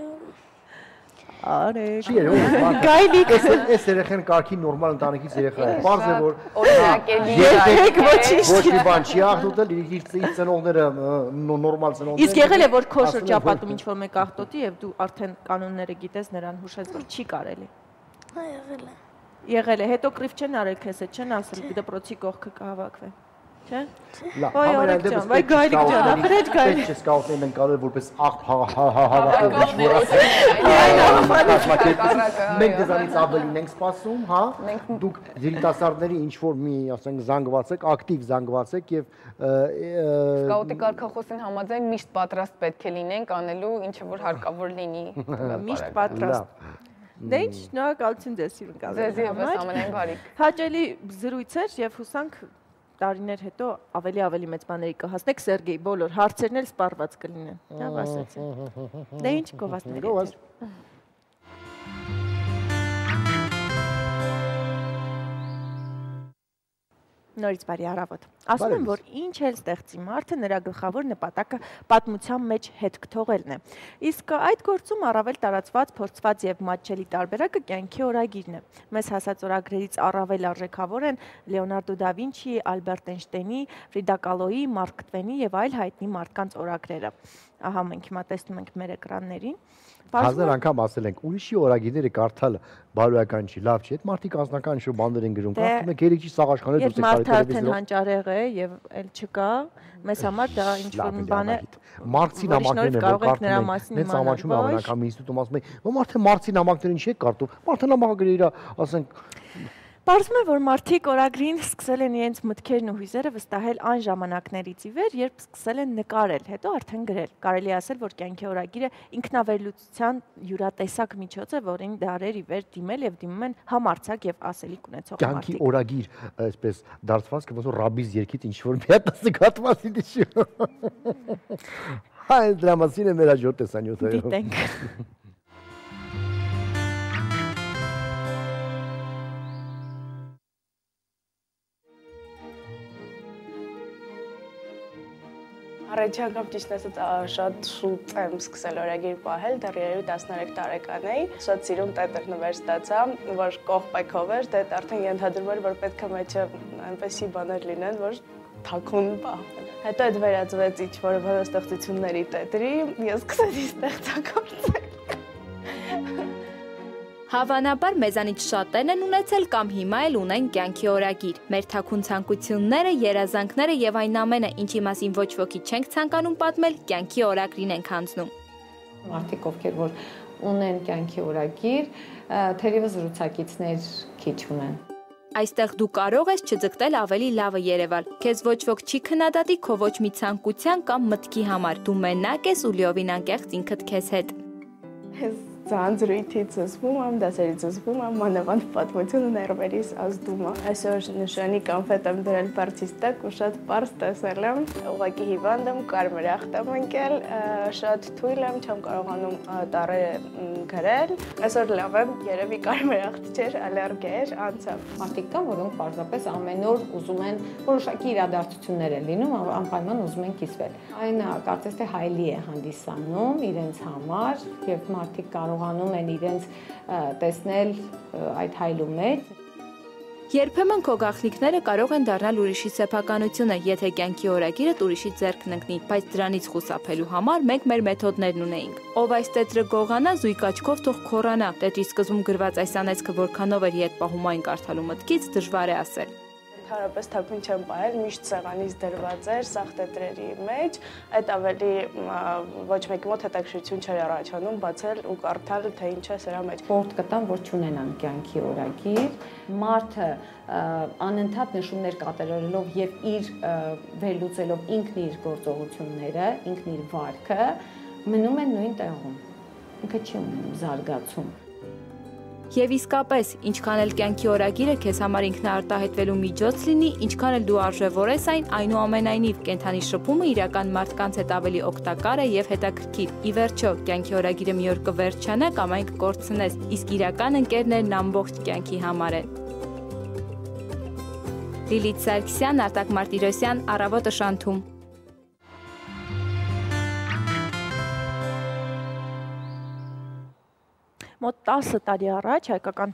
Արեգ։ Չի եղել։ Գայլիկ։ Այս երեխան կարգի նորմալ ընտանիքից երեխա է։ Պարզ է որ օրինակելի ոչ մի բան չի աղտոտել, իր ծնողները նորմալ ծնողներ։ Իսկ եղել է որ քո շրջապատում ինչ որ մեկ աղտոտի եւ դու արդեն կանոնները գիտես, նրան հուշես, որ չի կարելի։ Հա, եղել է։ Եղել է, հետո կրիվ չեն արել քեզ, չեն ասել դպրոցի կողքը կհավաքվեն։ Չէ՞։ Լավ, Ոայ Արեգ ջան, վայ Գայլիկ ջան, ախրեջ Գայլիկ։ Չէ, սկաուտներն են կարել որպես աղ հավաքել։ Մենք դրանից ավելին ենք սպասում, հա։ Դուք երիտասարդների ինչ որ մի, ասենք, զանգված եք, ակտիվ զանգված եք եւ Սկաուտի կարգախոսին համաձայն միշտ պատրաստ պետք է լինենք անելու ինչը որ հարկավոր լինի։ Միշտ պատրաստ։ Դե ինչ, շնորհակալություն ձեզ հյուրընկալվելու համար։ Ձեզ եւս ամենայն բարիք։ Հաճելի զրույց էր եւ հուսանք տարիներ հետո ավելի ավելի մեծ բաների կհասնեք Սերգեյ, բոլոր հարցերն էլ սպառված կլինեն։ Լավ ասացին։ Դե ինչ գովազդներ։ Նորից բարի առավոտ։ Ասում եմ, որ ինչ էլ ստեղծի մարդը, նրա գլխավոր նպատակը պատմության մեջ հետք թողելն է։ Իսկ այդ գործում առավել տարածված, փորձված եւ մատչելի տարբերակը կյանքի օրագիրն է։ Մեզ հասած օրագրերից առավել արժեքավոր են Լեոնարդո դա Վինչիի, Ալբերտ Էյնշտեյնի, Ֆրիդա Կալոյի, Մարկ Տվենի եւ այլ հայտնի մարդկանց օրագրերը։ Ահա մենք հիմա տեսնում ենք մեր էկրաններին։ Հազար անգամ ասել ենք, ուրիշի օրագիրները կարդալը բարոյական չի, լավ չի։ Այդ մարդիկ անձնական ինչ-որ բաներ են գրում, կարդում եք երեք չի սաղաշխաներ դուրս եկարի տելևիզիոն։ Երբ մարդը արդեն հանճարեղ է եւ էլ չկա, մեզ համար դա ինչ-որ մի բան է։ Մարքսի նամակներն են, որ կարդում են, նենց ամաչում ամեն անգամ ինստիտուտում ասում են, «Ո մարդը Մարքսի նամակները ինչի է կարդում»։ Մարդը նամակը գրի իր, ասենք Պարզվում է, որ մարդիկ օրագրին սկսել են իրենց մտքերն ու հույզերը վստահել այն ժամանակներից ի վեր, երբ սկսել են նկարել, հետո արդեն գրել։ Կարելի ասել, որ կյանքի օրագիրը ինքնավերլուծության յուրատեսակ միջոց է, որին դարեր ի վեր դիմել եւ դիմում են համարձակ եւ ասելիք ունեցող մարդիկ։ Կյանքի օրագիր, այսպես դարձվածքը ոնց որ ռաբիս երկից ինչ որ մի հատ ասկատվասի դիշ։ Հայ դրա մասին է մեր հաջորդ տեսանյութը։ Դիտենք։ Առաջին անգամ ճիշտ ասած շատ շուտ եմ սկսել օրագիր պահել, դեռ տասներեք տարեկան էի։ Շատ սիրուն տետր նվեր ստացա, որ կողպայքով էր, դե արդեն ենթադրում էր, որ պետք է մեջը այնպեսի բաներ լինեն, որ թաքուն պահվեն։ Հետո այդ վերածվեց ինչ-որ բանաստեղծությունների տետրի, ես սկսեցի ստեղծագործել։ Հավանաբար մեզանից շատերն են ունեցել կամ հիմա էլ ունեն կյանքի օրագիր։ Մեր թաքուն ցանկությունները, երազանքները եւ այն ամենը, ինչի մասին ոչ ոքի չենք ցանկանում պատմել, կյանքի օրագրին ենք հանձնում։ Մարդիկ, ովքեր որ ունեն կյանքի օրագիր, թերևս զրուցակիցներ քիչ ունեն։ Այստեղ դու կարող ես չձգտել ավելի լավը երևալ։ Քեզ ոչ ոք չի քննադատի քո ոչ մի ցանկության կամ մտքի համար։ Դու մենակ ես ու լիովին անկեղծ ինքդ քեզ հետ։ Ձանձրույթից զսպում եմ, դասերից զսպում եմ, մանավանդ պատմությունը ներվերից ազդում է։ Այսօր նշանի կոնֆետ եմ դրել բարձից տակ ու շատ պարզ տեսել եմ, ուղղակի հիվանդ եմ, կարմիր ախտ եմ ընկել, շատ թույլ եմ, չեմ կարողանում տառերը գրել։ Այսօր լավ եմ, երևի կարմիր ախտ չէր, ալերգիա էր, անցավ։ Մարդիկ կան, որոնք պարզապես ամեն օր ուզում են որոշակի իրադարձություններ են լինում, անպայման ուզում են կիսվել։ Այն կարծես թե հայելի է հանդիսանում իրենց համար եւ մարդիկ կարողանում են իրենց տեսնել այդ հայլու մեջ։ Երբեմն քո գաղտնիքները կարող են դառնալ ուրիշի սեփականությունը, եթե կյանքի օրագիրը ուրիշի ձեռքն ընկնի, բայց դրանից խուսափելու համար մենք մեր մեթոդներն ունեինք։ Ով այս տետրը գողանա, զույգ աչքով թող քորանա։ Տետրի սկզբում գրված այս անեծքը որքանով էր ետ պահում այն կարդալու մտքից, դժվար է ասել։ Հարաբես թափուն չեմ պահել, միշտ սեղանից դրված էր սաղ տետրերի մեջ, այդ ավելի ոչ մեկի մոտ հետաքրքրություն չէր առաջանում բացել ու կարդալ, թե ինչ է սրա մեջ։ Խորհուրդ կտամ, որ չունենան կյանքի օրագիր, մարդը անընդհատ նշումներ կատարելով եւ իր վերլուծելով ինքն իր գործողությունները, ինքն իր վարքը, մնում են նույն տեղում։ Ինքը չի ունենում զարգացում։ Եվ իսկապես, ինչքան էլ կյանքի օրագիրը քեզ համար ինքնաարտահայտվելու միջոց լինի, ինչքան էլ դու արժևորես այն, այնուամենայնիվ կենդանի շփումը իրական մարդկանց հետ ավելի օգտակար է եւ հետաքրքիր։ Ի վերջո, կյանքի օրագիրը մի օր կվերջանա կամ այն կկորցնես, իսկ իրական ընկերներն ամբողջ կյանքի համար են։ Լիլիթ Սարգսյան, Արտակ Մարտիրոսյան, Առավոտը շանթում։ Մոտ տասը տարի առաջ հայկական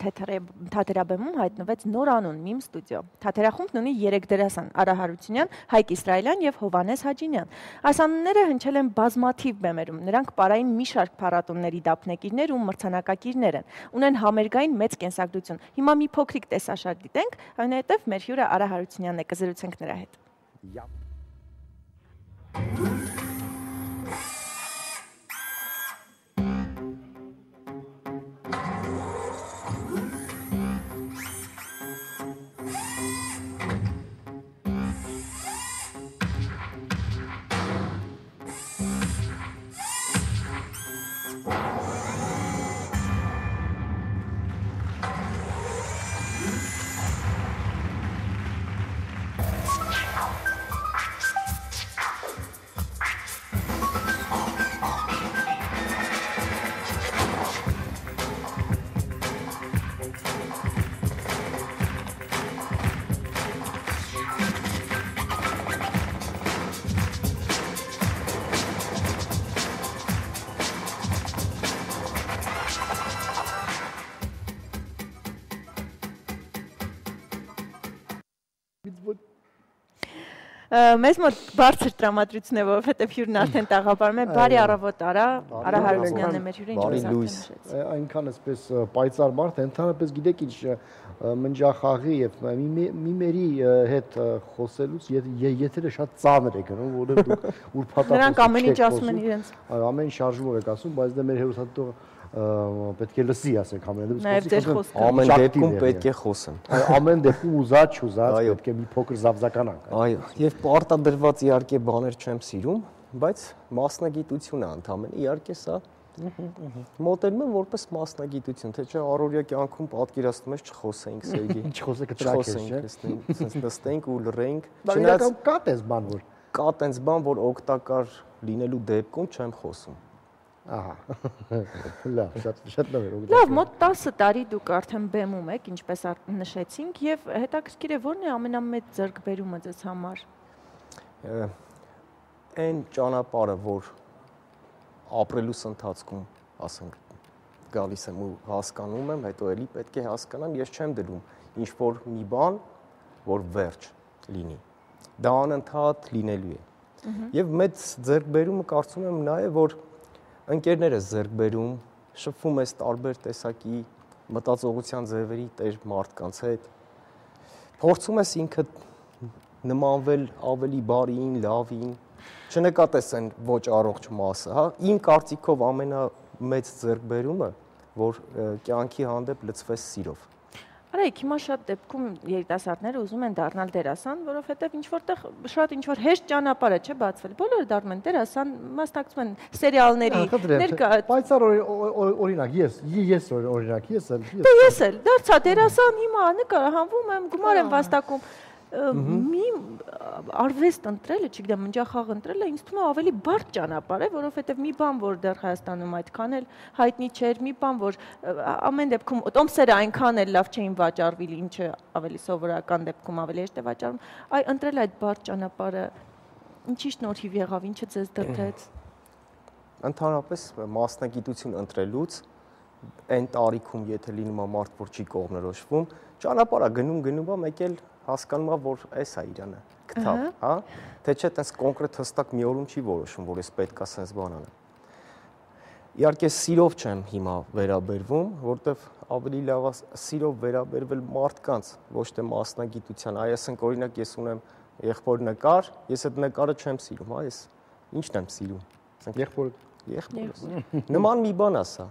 թատերաբեմում հայտնվեց նոր անուն Միմ ստուդիո։ Թատերախումբն ունի երեք դերասան՝ Արա Հարությունյան, Հայկ Իսրայելյան եւ Հովհաննես Հաջինյան։ Այս անունները հնչել են բազմաթիվ բեմերում։ Նրանք պարային մի շարք փառատոների դափնեկիրներ ու մրցանակակիրներ են։ Ունեն համերգային մեծ կենսագրություն։ Հիմա մի փոքրիկ տեսաշարժ դիտենք, այնուհետև մեր հյուրը Արա Հարությունյանն է, կզրուցենք նրա հետ։ Մեզ մոտ բարձր տրամադրություն է, որովհետև հյուրն արդեն տաղավարում է, բարի առավոտ Արա, Արա Հարությունյանն է մեր հյուրը, ինչպես արդեն նշեց։ Այնքան էսպես պայծառ մարդ, ընդհանրապես գիտեք ինչ մնջախաղի եւ միմերի հետ խոսելուց եթերը շատ ծանր է գնում, որովհետև դուք ուրբաթ նրանք ամեն ինչ ասում են իրենց։ Այո, ամեն ինչ շարժումով եք ասում, բայց դա մեր հերոսատու պետք է լսի, ասենք ամեն դեպքում։ Ամեն դեպքում պետք է խոսեն։ Ամեն դեպքում ուզած չուզած պետք է մի փոքր զավզականանք։ Այո, եւ պարտադրված իհարկե բաներ չեմ սիրում, բայց մասնագիտություն է ընդամենը, իհարկե սա մոտենում եմ որպես մասնագիտություն, թե չէ առօրյա կյանքում պատկերացնում ես չխոսենք Սերգեյ։ Չխոսեք տրակ ես, չէ՞։ Սենց նստենք ու լռենք։ Չնայած կա տես բան որ կա տենց բան, որ օգտակար լինելու դեպքում չեմ խոսում։ Ահա։ Լավ, շատ շատ լավ է։ Լավ, մոտ տասը տարի դուք արդեն բեմում եք, ինչպես նշեցինք, եւ հետաքրքիր է ո՞րն է ամենամեծ ձեռքբերումը ձեզ համար։ Այն ճանապարհը, որ ապրելուս ընթացքում, ասենք, գալիս եմ ու հասկանում եմ, հետո էլի պետք է հասկանամ, ես չեմ դրում ինչ որ մի բան, որ վերջ լինի։ Դա անընդհատ լինելու է։ Եվ մեծ ձեռքբերումը կարծում եմ նա է, որ ընկերներս ձեռք բերում, շփվում ես տարբեր տեսակի մտածողության ձևերի տեր մարդկանց հետ, փորձում ես ինքդ նմանվել ավելի բարին, լավին, չնկատես այն ոչ առողջ մասը, հա, իմ կարծիքով ամենամեծ ձեռքբերումը, որ կյանքի հանդեպ լցվես սիրով։ Արայք, հիմա շատ դեպքում երիտասարդները ուզում են դառնալ դերասան, որովհետև ինչ որտեղ շատ ինչ որ հեշտ ճանապարհ է, չէ, բացվել։ Բոլորը դառնում են դերասան, մասնակցում են սերիալների, ներկա։ Բայց օրինակ, ես ես օրինակ, ես էլ Դե ես էլ դարձա դերասան, հիմա նկարահանվում եմ, գումար եմ վաստակում։ Մի արվեստ ընտրելը, չգիտեմ, ընջախաղ ընտրելը ինձ թվում է ավելի բարդ ճանապարհ է, որովհետև մի բան, որ դեռ Հայաստանում այդքան էլ հայտնի չէր, մի բան, որ ամեն դեպքում տոմսերը այնքան էլ լավ չէին վաճառվել, ինչը ավելի սովորական դեպքում ավելի հեշտ է վաճառվում, այ ընտրել այդ բարդ ճանապարհը ինչի շնորհիվ եղավ, ինչը ձեզ դրդեց։ Ընդհանրապես մասնագիտություն ընտրելուց այն տարիքում, եթե լինում է մարդ, որ չի կողմնորոշվում, ճանապարհը գնում գնում է, մեկ էլ հասկանում է, որ էս է իրանը, գտավ, հա, թե չէ տես կոնկրետ հստակ մի օրում չի որոշում, որ ես պետք է sense բան անեմ։ Իհարկե սիրով չեմ հիմա վերաբերվում, որտեվ ավելի լավ է սիրով վերաբերվել մարդկանց, ոչ թե մասնագիտության։ Այ ասենք օրինակ ես ունեմ եղբոր նկար, ես այդ նկարը չեմ սիրում, հա, ես ի՞նչն եմ սիրում։ Եղբորը, եղբորը։ Նման մի բան է սա։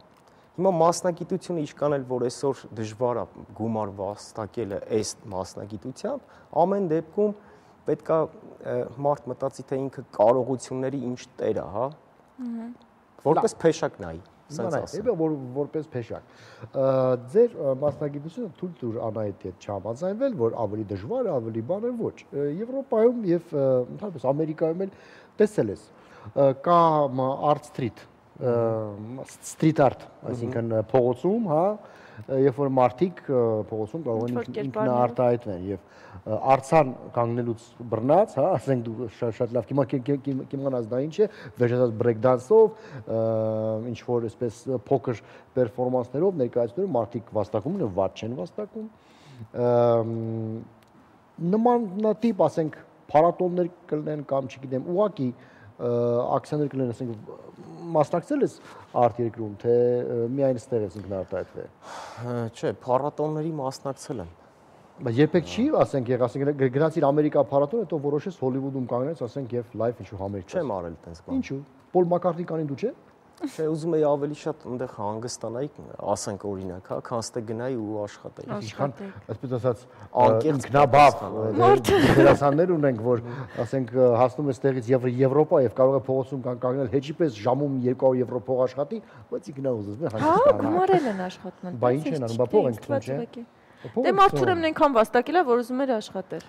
Հիմա մասնագիտությունը ինչքան էլ որ այսօր դժվար է գումար վաստակելը այս մասնագիտությամբ, ամեն դեպքում պետք է մարդ մտածի, թե ինքը կարողությունների ինչ տեր է, հա։ Որպես փեշակ նայի, ասենց ասեմ։ Որ որպես փեշակ։ Ձեր մասնագիտությունը թույլ տուր Անահիտի հետ չհամաձայնվել, որ ավելի դժվար է, ավելի բան է, ոչ։ Եվրոպայում եւ ընդհանրապես Ամերիկայում էլ տեսել ես կա Art Street street art, այսինքն փողոցում, հա, երբ որ մարդիկ փողոցում կարող են ինքնաարտահայտվել եւ արցան կանգնելուց բռնած, հա, ասենք դու շատ լավ կիմանաս դա ինչ է, վերջացած break dance-ով, ինչ որ այսպես փոքր պերֆորմանսներով ներկայացնում մարդիկ վաստակում են, վատ չեն վաստակում։ Նմանատիպ, ասենք, փառատոներ կլինեն կամ չգիտեմ, ուղղակի ակցիաներ կլինեն, ասենք, մասնակցել ես արտ երկրում, թե միայն ստեղ ես ինքնարտահայտվել։ Չէ, փառատոների մասնակցել եմ։ Բայց երբեք չի, ասենք, ասենք գնացիր Ամերիկա փառատոն, հետո որոշես Հոլիվուդում կանգնես, ասենք, եւ լայվ ինչ-որ համերգ։ Չեմ արել այդպես բան։ Ինչու՞։ Պոլ Մակարտնի դու չէ։ Չէ, ուզում եի ավելի շատ այնտեղ հանգստանայի, ասենք օրինակ, հա, քան ստե գնայի ու աշխատեի։ Ինչքան, այսպես ասած, ինքնաբավ դերասաններ ունենք, որ, ասենք, հասնում ես տեղից Եվրոպա եւ կարող է փողոցում կանգնել հեչի պես ժամում երկու հարյուր եվրո փող աշխատի, բայց ինքնա ուզում է հանգստանալ։ Հա, գումարել են աշխատում։ Բա ինչ են անում, բա փող են քնում, չէ։ Դե մարդուրն այնքան վաստակել է, որ ուզում էր աշխատել։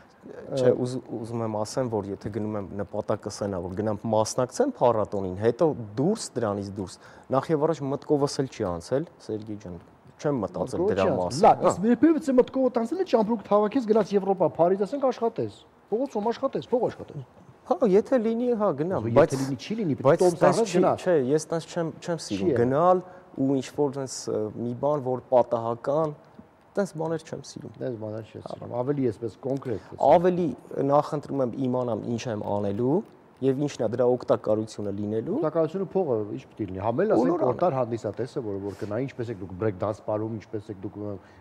Չէ, ուզում եմ ասեմ, որ եթե գնում եմ նպատակը սենա, որ գնամ մասնակցեմ փառատոնին, հետո դուրս դրանից դուրս, նախ եւ առաջ մտքովս էլ չի անցել, Սերգեյ ջան, չեմ մտածել դրա մասին։ Լավ, իսկ երբևէ մտքովդ անցել է ճամպրուկ թավակից գնաց Եվրոպա, Փարիզ, ասենք աշխատես։ Փողոցում աշխատես, փող աշխատես։ Հա, եթե լինի, հա, գնամ, բայց եթե լինի, չի լինի, բայց տոմսարը գնա։ Չէ, ես տես չեմ չեմ սիրում գնալ ու ինչ որ այնս մի բան, որ պատահական Տես բաներ չեմ սիրում։ Տես բաներ չես սիրում։ Ավելի էսպես կոնկրետ։ Ավելի նախընտրում եմ իմանամ ինչ եմ անելու եւ ինչն է դրա օգտակարությունը լինելու։ Օգտակարությունը փողը ինչ պետք է լինի։ Համել ասենք օտար հանդիսատեսը, որը որ գնա, ինչպես եք դուք break dance պարում, ինչպես եք դուք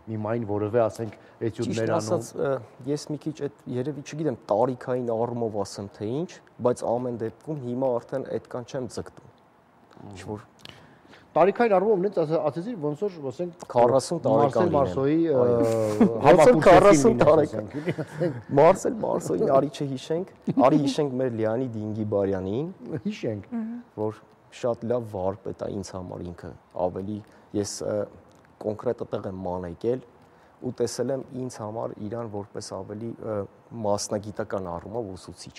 մի մայն որևէ ասենք էտյուդներ անում։ Ճիշտ ասած, ես մի քիչ այդ երևի չգիտեմ տարիքային առումով ասեմ թե ինչ, բայց ամեն դեպքում հիմա արդեն այդքան չեմ ձգտում։ Ինչ որ Տարիքային առումով նենց ասեցի ոնց որ ասենք քառասուն տարեկան Մարսոյի համապատասխան քառասուն տարեկան Մարսել Մարսոյին արի չհիշենք, արի հիշենք մեր Լեոնիդ Ինգիբարյանին, հիշենք, որ շատ լավ վարպետ է ինձ համար ինքը, ավելի ես կոնկրետ այդտեղ եմ մանեկել ու տեսել եմ ինձ համար իրան որպես ավելի մասնագիտական առումով ուսուցիչ։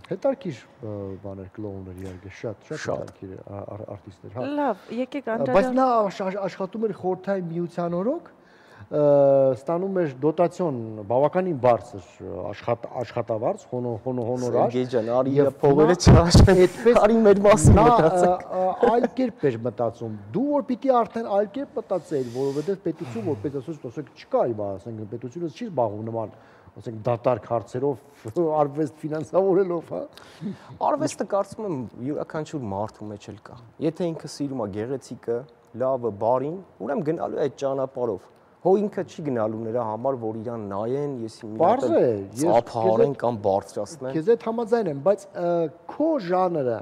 Հետարքիր բաներ կլոուներ իհարկե շատ շատ հետարքիր արտիստներ, հա։ Լավ, եկեք անդրադառնանք։ Բայց նա աշխատում էր խորհրդային միության օրոք, ստանում էր դոտացիոն բավականին բարձր աշխատավարձ, հոնորար։ Սերգեյ ջան, արի իր փողերը չհաշվեն, արի մեր մասին մտածենք։ Այլ կերպ էր մտածում։ Դու որ պիտի արդեն այլ կերպ մտածեիր, որովհետև պետություն որպես ասած չկա, ասենք պետությունը չի զբաղվում նման ասենք դատարկ հարցերով արվեստ ֆինանսավորելով, հա։ Արվեստը կարծում եմ յուրաքանչյուր մարդու մեջ էլ կա։ Եթե ինքը սիրում է գեղեցիկը, լավը, բարին, ուրեմն գնալու է այդ ճանապարհով։ Հո ինքը չի գնալու նրա համար, որ իրան նայեն, ես մի հատ ծափահարեն կամ բարձրացնեն։ Քեզ հետ համաձայն եմ, բայց քո ժանրը,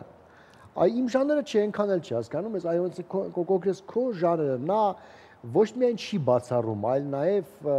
այ իմ ժանրը չի այնքան էլ չի հասկանում, ես այո, կոնկրետ քո ժանրը, նա ոչ միայն չի բացառում, այլ նաև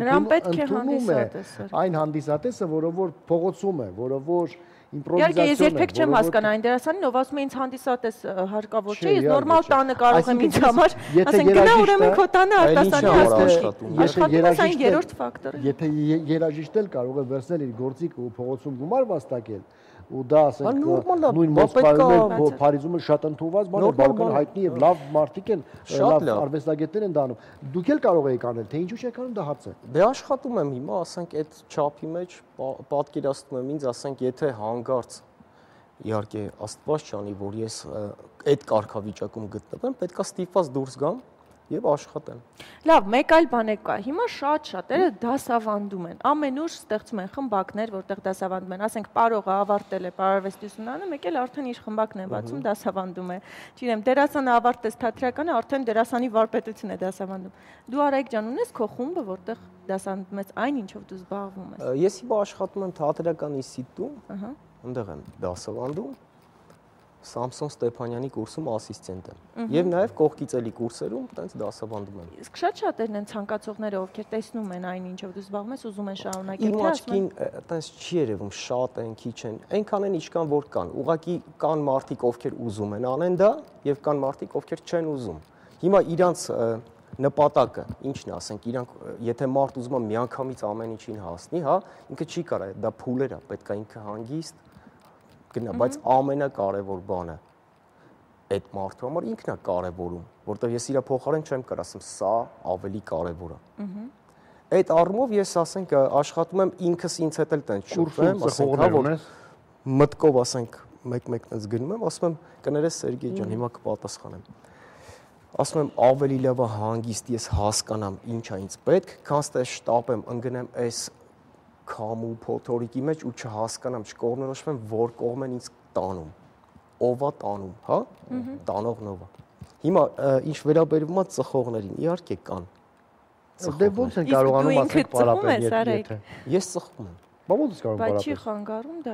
նրան պետք է հանդիսատեսը, այն հանդիսատեսը, որը որ փողոցում է, որը որ Իհարկե ես երբեք չեմ հասկանում այն դերասանին, ով ասում է ինձ հանդիսատես հարկավոր չէ, ես նորմալ տանը կարող եմ ինձ համար, ասենք գնա ուրեմն քո տանը արտասանի աշխատի։ Աշխատում է այն երրորդ ֆակտորը։ Եթե երաժիշտն էլ կարող է վերցնել իր գործիքը ու փողոցում գումար վաստակել, ու դա ասենք նույն Մոսկվայում Փարիզում շատ ընդունված բան է, բավական հայտնի եւ լավ մարդիկ են, լավ արվեստագետներ են դառնում։ Դուք էլ կարող եք անել, թե ինչու չեք անում, դա հարց է։ Դե աշխատում եմ հիմա, ասենք այդ չափի մեջ պատկերացնում եմ ինձ, ասենք եթե հանգարց իհարկե Աստված չանի, որ ես այդ կարգավիճակում գտնվեմ, պետքա ստիպված դուրս գամ եւ աշխատեմ։ Լավ, մեկ այլ բան է կա։ Հիմա շատ շատերը դասավանդում են։ Ամենուր ստեղծում են խմբակներ, որտեղ դասավանդում են, ասենք պարողը ավարտել է պարարվեստի ուսումնարանը, մեկ էլ արդեն իր խմբակն է բացում, դասավանդում է։ Չգիտեմ, դերասանը ավարտեց թատերականը, արդեն դերասանի վարպետություն է դասավանդում։ Դու Արայիկ ջան, ունես քո խումբը, որտեղ դասավանդում ես այն, ինչով դու զբաղվում ես։ Ես հիմա աշխատում եմ թատերական ինստիտուտում, այնտեղ եմ դասավանդում։ Սամսոն Ստեփանյանի կուրսում ասիստենտ եմ եւ նաեւ կողքից էլի կուրսերում տենց դասավանդում եմ։ Իսկ շատ շատերն են ցանկացողները, ովքեր տեսնում են այն, ինչով դու զբաղվում ես, ուզում են շարունակել, թե ասում են։ Իմ աչքին տենց չի երևում, շատ են, քիչ են, այնքան են ինչքան որ կան։ Ուղղակի կան մարդիկ, ովքեր ուզում են անեն դա եւ կան մարդիկ, ովքեր չեն ուզում։ Հիմա իրանց նպատակը ինչն է, ասենք, իրանք եթե մարդ ուզում է միանգամից ամեն ինչին հասնի, հա, ինքը չի կարա, դա փուլեր է, պետք է ինքը հանգիստ գնա, բայց ամենակարևոր բանը այդ մարդու համար ինքն է կարևորում, որտեղ ես իր փոխարեն չեմ կարող ասեմ, սա ավելի կարևոր է։ Այդ առումով ես ասենք աշխատում եմ ինքս ինձ հետ էլ տենց շփվեմ, ասենք, հա, որ մտկով ասենք մեկ-մեկ տենց գնում եմ, ասում եմ, կներես Սերգեյ ջան, հիմա կպատասխանեմ։ Ասում եմ, ավելի լավ է հանգիստ ես հասկանամ ինչ է ինձ պետք, քան թե շտապեմ, ընկնեմ այս քամու փոթորիկի մեջ ու չհասկանամ, չկողմնորոշվեմ, որ կողմ են ինձ տանում, ով է տանում, հա, տանողն ով է։ Հիմա ինչ վերաբերվում է ծխողներին, իհարկե կան։ Դե ո՞նց են կարողանում ասել պարապել եթե։ Ես ծխում եմ։ Բա ո՞նց կարող պարապել։ Բայց չի խանգարում դա։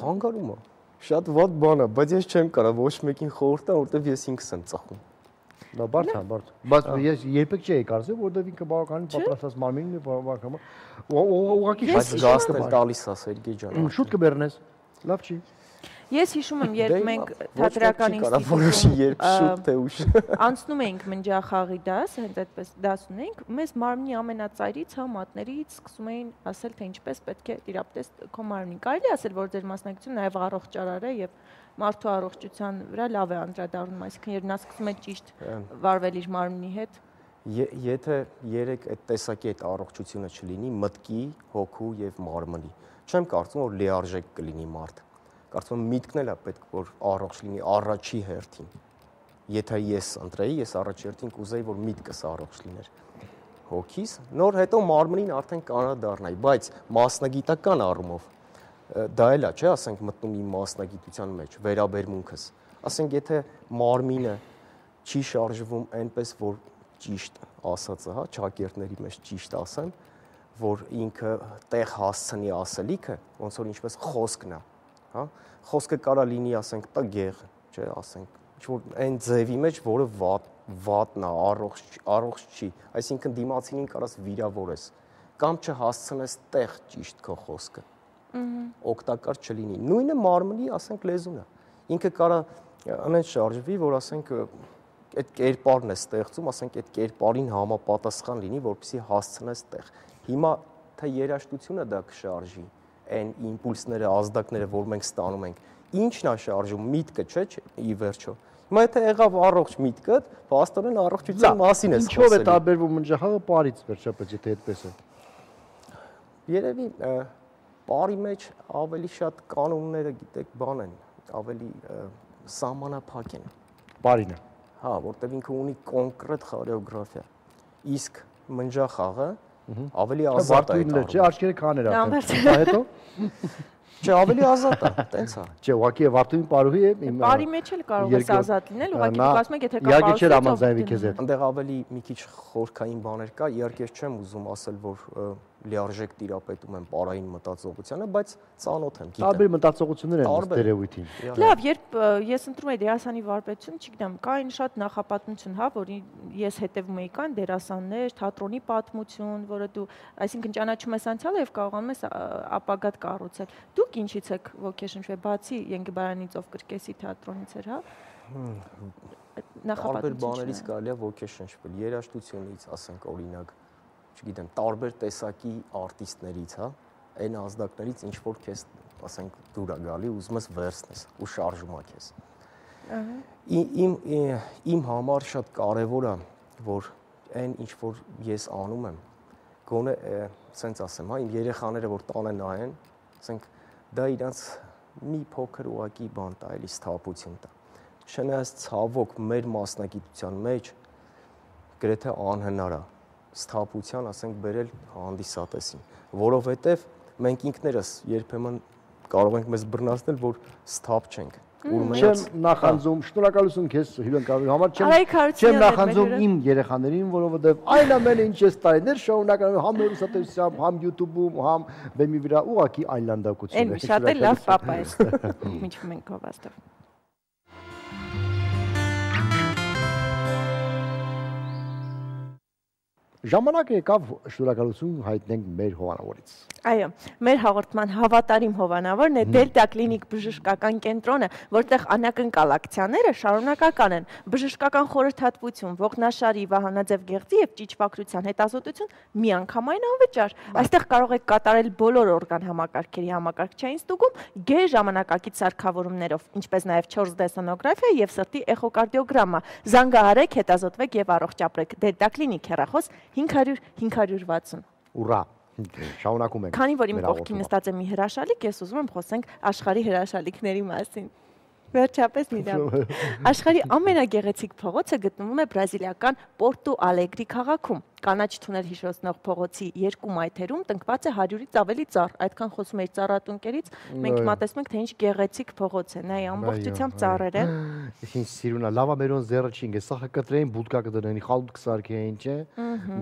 Խանգարում է։ Շատ վատ բան է, բայց ես չեմ կարող ոչ մեկին խորհուրդ տալ, որտեվ ես ինքս եմ ծխում։ Դա բարդ է, բարդ։ Բայց ես երբեք չէի կարծել, որովհետև ինքը բավականին պատրաստած մարմինն է, բավական։ Ուղղակի շատ գաստ է տալիս է Սերգեյ ջան։ Շուտ կբեռնես։ Լավ չի։ Ես հիշում եմ, երբ մենք թատերական ինստիտուտում անցնում էինք մնջախաղի դաս, հենց այդպես դաս ունեինք, մեզ մարմնի ամենածայրից, հա, մատներից սկսում էին ասել, թե ինչպես պետք է տիրապետես քո մարմնին։ Կարելի ասել, որ ձեր մասնակցությունը նաև առողջարար է եւ մարդու առողջության վրա լավ է անդրադառնում, այսինքն երբ նա սկսում է ճիշտ վարվել իր մարմնի հետ։ Եթե երեք այդ տեսակի այդ առողջությունը չլինի, մտքի, հոգու եւ մարմնի, չեմ կարծում, որ լիարժեք կլինի մարդ։ Կարծում եմ միտքն էլ է պետք, որ առողջ լինի առաջի հերթին։ Եթե ես ընտրեի, ես առաջի հերթին կուզեի, որ միտքս առողջ լիներ։ Հոգիս, նոր հետո մարմնին արդեն կանադառնայի, բայց մասնագիտական առումով դա էլ է, չէ, ասենք մտնում իմ մասնագիտության մեջ, վերաբերմունքս։ Ասենք եթե մարմինը չի շարժվում այնպես, որ ճիշտ ասածը, հա, ճակերտների մեջ ճիշտ ասեմ, որ ինքը տեղ հասցնի ասելիքը, ոնց որ ինչպես խոսքն է, հա, խոսքը կարա լինի, ասենք, տգեղ, չէ, ասենք, ինչ-որ այն ձևի մեջ, որը վատ, վատն է, առողջ, առողջ չի, այսինքն դիմացինին կարաս վիրավորես, կամ չհասցնես տեղ ճիշտ քո խոսքը, օգտակար չլինի։ Նույնը մարմնի, ասենք, լեզուն է, ինքը կարա անեն շարժվի, որ ասենք, այդ կերպարն է ստեղծում, ասենք, այդ կերպարին համապատասխան լինի, որպեսզի հասցնես տեղ։ Հիմա թե երաժշտությունը դա կշարժի, այն իմպուլսները, ազդակները, որ մենք ստանում ենք, ինչն է շարժում, միտքը, չէ, ի վերջո։ Հիմա եթե եղավ առողջ միտքդ, փաստորեն առողջության մասին ես խոսել։ Ինչով է տարբերվում մնջախաղը պարից վերջապես, եթե այդպես է։ Երևի պարի մեջ ավելի շատ կանոնները, գիտեք, բան են, ավելի սահմանափակ են։ Պարինը։ Հա, որտեղ ինքը ունի կոնկրետ խորեոգրաֆիա։ Իսկ մնջախաղը ավելի ազատ է այդ։ Չէ, աչքերը քաներ է։ Հետո Չէ, ավելի ազատ է, տենց է։ Չէ, ուղղակի Վարդուհին պարուհի է։ Պարի մեջ էլ կարող է ազատ լինել, ուղղակի դուք ասում եք, եթե կա իհարկե չէ համաձայնվի քեզ հետ։ Այնտեղ ավելի մի քիչ խորքային բաներ կա, իհարկե ես չեմ ուզում ասել, որ լիարժեք տիրապետում եմ պարային մտածողությանը, բայց ծանոթ եմ, գիտեմ։ Տարբեր մտածողություններ են ստերեոտիպին։ Լավ, երբ ես ընտրում եի դերասանի վարպետություն, չգիտեմ, կային շատ նախապատմություն, հա, որ ես հետևում էի, կան դերասաններ, թատրոնի պատմություն, որը դու, այսինքն ճանաչում ես անցյալը եւ կարողանում ես ապագատ կառուցել։ Դուք ինչից եք ոգեշնչվել, բացի Ենգիբարանից, ով կրկեսի թատրոնից էր, հա։ Տարբեր բաներից կարելի է ոգեշնչվել, երաժշտությունից, ասենք օրինակ, չգիտեմ, տարբեր տեսակի արտիստներից, հա, այն ազդակներից ինչ որ քեզ, ասենք, դուր է գալի, ուզում ես վերցնես ու շարժում է քեզ։ Իմ իմ համար շատ կարևոր է, որ այն ինչ որ ես անում եմ, գոնե սենց ասեմ, հա, իմ երեխաները որ տանը նայեն, ասենք, դա իրանց մի փոքր ուղակի բան տա, էլի սթափություն տա։ Չնայած ցավոք մեր մասնագիտության մեջ գրեթե անհնար է սթափության, ասենք, բերել հանդիսատեսին, որովհետև մենք ինքներս երբեմն կարող ենք մեզ բռնացնել, որ սթափ չենք։ Չեմ նախանձում, շնորհակալություն քեզ հյուրընկալելու համար, չեմ նախանձում իմ երեխաներին, որովհետև այն ամենը ինչ ես տարիներ շարունականում եմ համ հեռուստատեսությամբ, համ YouTube-ում, համ բեմի վրա, ուղղակի այլանդակություն է։ Այն շատ է լավ պապա ես։ Միջվում ենք հովաստով։ Ժամանակը եկավ շնորհակալություն հայտնենք մեր հովանավորից։ Այո, մեր հաղորդման հավատարիմ հովանավորն է Դելտա կլինիկ բժշկական կենտրոնը, որտեղ անակնկալ ակցիաները շարունակական են։ Բժշկական խորհրդատվություն, ողնաշարի, վահանաձև գեղձի եւ ճիճվակրության հետազոտություն միանգամայն անվճար։ Այստեղ կարող եք կատարել բոլոր օրգան համակարգերի համակարգչային ստուգում, գեր ժամանակակից սարքավորումներով, ինչպես նաեւ չորս դե սոնոգրաֆիա եւ սրտի էխոկարդիոգրամա։ Զանգահարեք, հետազոտվեք եւ առողջ ապրեք։ Դելտա կլինիկ հեռախոս հինգ հարյուր հինգ հարյուր վաթսուն։ Ուրա։ Շարունակում ենք։ Քանի որ իմ կողքին նստած է մի հրաշալիք, ես ուզում եմ խոսենք աշխարհի հրաշալիքների մասին։ Վերջապես մի դամ։ Աշխարհի ամենագեղեցիկ փողոցը գտնվում է բրազիլիական Պորտու Ալեգրի քաղաքում։ Կանաչ թունել հիշեցնող փողոցի երկու մայթերում տնկված է հարյուրից ավելի ծառ։ Այդքան խոսում էի ծառատունկերից, մենք մտածում ենք, թե ինչ գեղեցիկ փողոց է, նայ ամբողջությամբ ծառեր են։ Ինչ սիրունա, լավա մերոն զերաչինգ է, սա կտրեին, բուդկա կդնեն, խալուտ կսարքեին, չէ։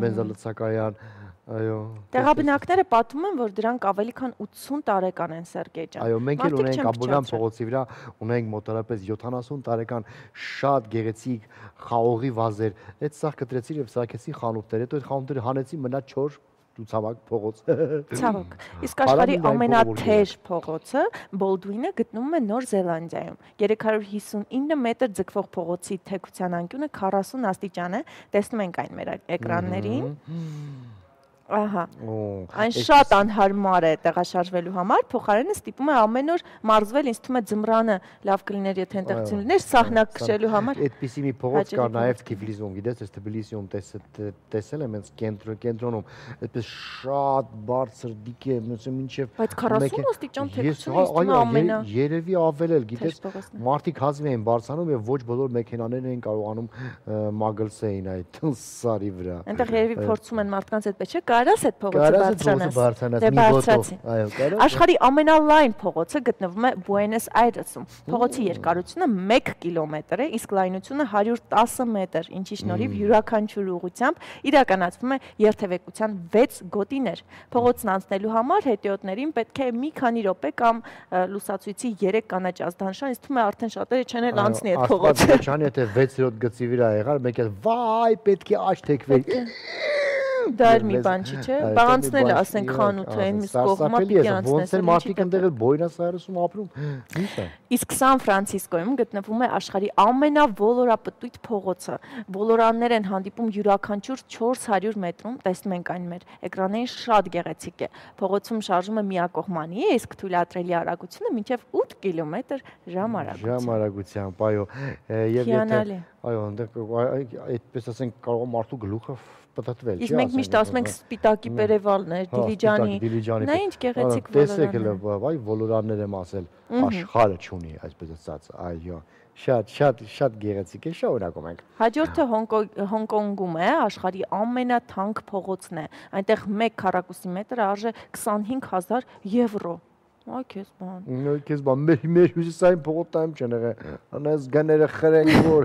Բենզալցակայան։ Այո։ Տեղաբնակները պատմում են, որ դրանք ավելի քան ութսուն տարեկան են, Սերգեյ ջան։ Այո, մենք էլ ունենք Աբովյան փողոցի վրա, ունենք մոտավորապես յոթանասուն տարեկան շատ գեղեցիկ խաղողի վազեր։ Այդ սա կտրեցին եւ սարքեցին խանութներ, հետո այդ խանութները հանեցին, մնա չոր ցավոք փողոց։ Ցավոք։ Իսկ աշխարհի ամենաթեժ փողոցը Բոլդուինը գտնվում է Նոր Զելանդիայում։ երեք հարյուր հիսունինը մետր ձգվող փողոցի թեքության անկյունը քառասուն աստիճան է։ Տեսնում ենք այն մեր էկրաններին։ Ահա։ Այն շատ անհարմար է տեղաշարժվելու համար, փոխարենը ստիպում է ամեն օր մարզվել, ինձ թվում է ձմռանը լավ կլիներ, եթե այնտեղից լիներ սահնակ քշելու համար։ Այդպիսի մի փողոց կար նաև Թիֆլիսում, գիտես, ես Թբիլիսիում տեսել եմ, հենց կենտրոնում, այդպես շատ բարձր դիք է, մինչև բայց քառասուն աստիճան թեքությունը ինձ թվում է ամենա։ Երևի ավել էլ, գիտես, մարդիկ հազիվ էին բարձրանում եւ ոչ բոլոր մեքենաներն էին կարողանում մագլսեին այդ սարի վրա։ Այնտեղ երևի փորձում են մարդկանց այդպես չէ, կարաս այդ փողոցը բարձրանաս։ Դե բարձրացի։ Աշխարհի ամենալայն փողոցը գտնվում է Բուենոս Այրեսում։ Փողոցի երկարությունը մեկ կիլոմետր է, իսկ լայնությունը հարյուր տասը մետր, ինչի շնորհիվ յուրաքանչյուր ուղղությամբ իրականացվում է երթևեկության վեց գոտիներ։ Փողոցն անցնելու համար հետիոտներին պետք է մի քանի րոպե կամ լուսացույցի երեք կանաչ ազդանշան, ինձ թվում է արդեն շատերը չեն էլ անցնի այդ փողոցը։ Աստված ջան, եթե վեց րոպե գծի վրա եղար, մեկ էլ վայ, պետք է աչ թեքվեր։ Դա էլ մի բան չի, չէ՞։ Բանցնել ասենք խանութը այն միս կողմա պիտի անցնես։ Ոնց է մարդիկ այնտեղ էլ Բոյնոս Այրեսում ապրում։ Ինչ է։ Իսկ Սան Ֆրանցիսկոյում գտնվում է աշխարհի ամենավոլորապտույտ փողոցը։ Ոլորաններ են հանդիպում յուրաքանչյուր չորս հարյուր մետրում, տեսնում ենք այն մեր էկրաններին, շատ գեղեցիկ է։ Փողոցում շարժումը միակողմանի է, իսկ թույլատրելի արագությունը մինչև ութ կիլոմետր ժամ արագությամբ։ Ժամ արագությամբ, այո։ Եվ եթե այո, այնտեղ այդպես ասենք կարող է մարդու գլուխը պատտվել, չէ՞։ Իսկ մենք միշտ ասում ենք սպիտակի Պերևալներ, Դիլիջանի։ Նա ինչ գեղեցիկ ոլորաններ։ Տեսեք, վայ, ոլորաններ եմ ասել, աշխարհը չունի, այսպես ասած, այո։ Շատ շատ շատ գեղեցիկ է, շարունակում ենք։ Հաջորդը Հոնկոնգում է, աշխարհի ամենաթանկ փողոցն է։ Այնտեղ մեկ քառակուսի մետրը արժե քսանհինգ հազար եվրո։ Այ քեզ բան։ Այ քեզ բան, մեր մեր հյուսիսային փողոցայում չեն եղել։ Անես գները խրենք որ։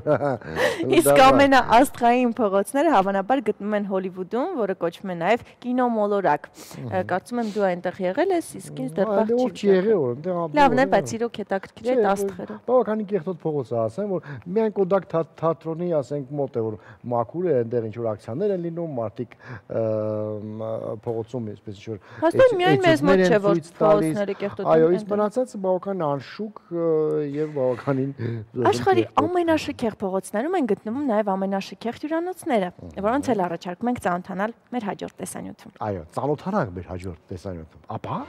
Իսկ ամենաաստղային փողոցները հավանաբար գտնվում են Հոլիվուդում, որը կոչվում է նաև կինոմոլորակ։ Կարծում եմ դու այնտեղ եղել ես, իսկ ինձ դեռ բախ չի։ Չի եղել որ այնտեղ։ Լավն է, բայց իրոք հետաքրքիր է աստղերը։ Բավականին կեղտոտ փողոց է, ասեմ, որ միայն Կոդակ թատրոնի, ասենք, մոտ է որ մաքուր է, այնտեղ ինչ որ ակցիաներ են լինում, մարդիկ փողոցում այսպես ինչ որ։ Հաստատ միայն մեզ մոտ չէ որ փողոցները կեղտոտ են։ Այո, իսկ մնացածը բավական անշուք եւ բավականին Աշխարհի ամենաշքեղ փողոցներում են գտնվում նաեւ ամենաշքեղ հյուրանոցները, որոնց էլ առաջարկում ենք ծանոթանալ մեր հաջորդ տեսանյութում։ Այո, ծանոթանանք մեր հաջորդ տեսանյութում։ Ապա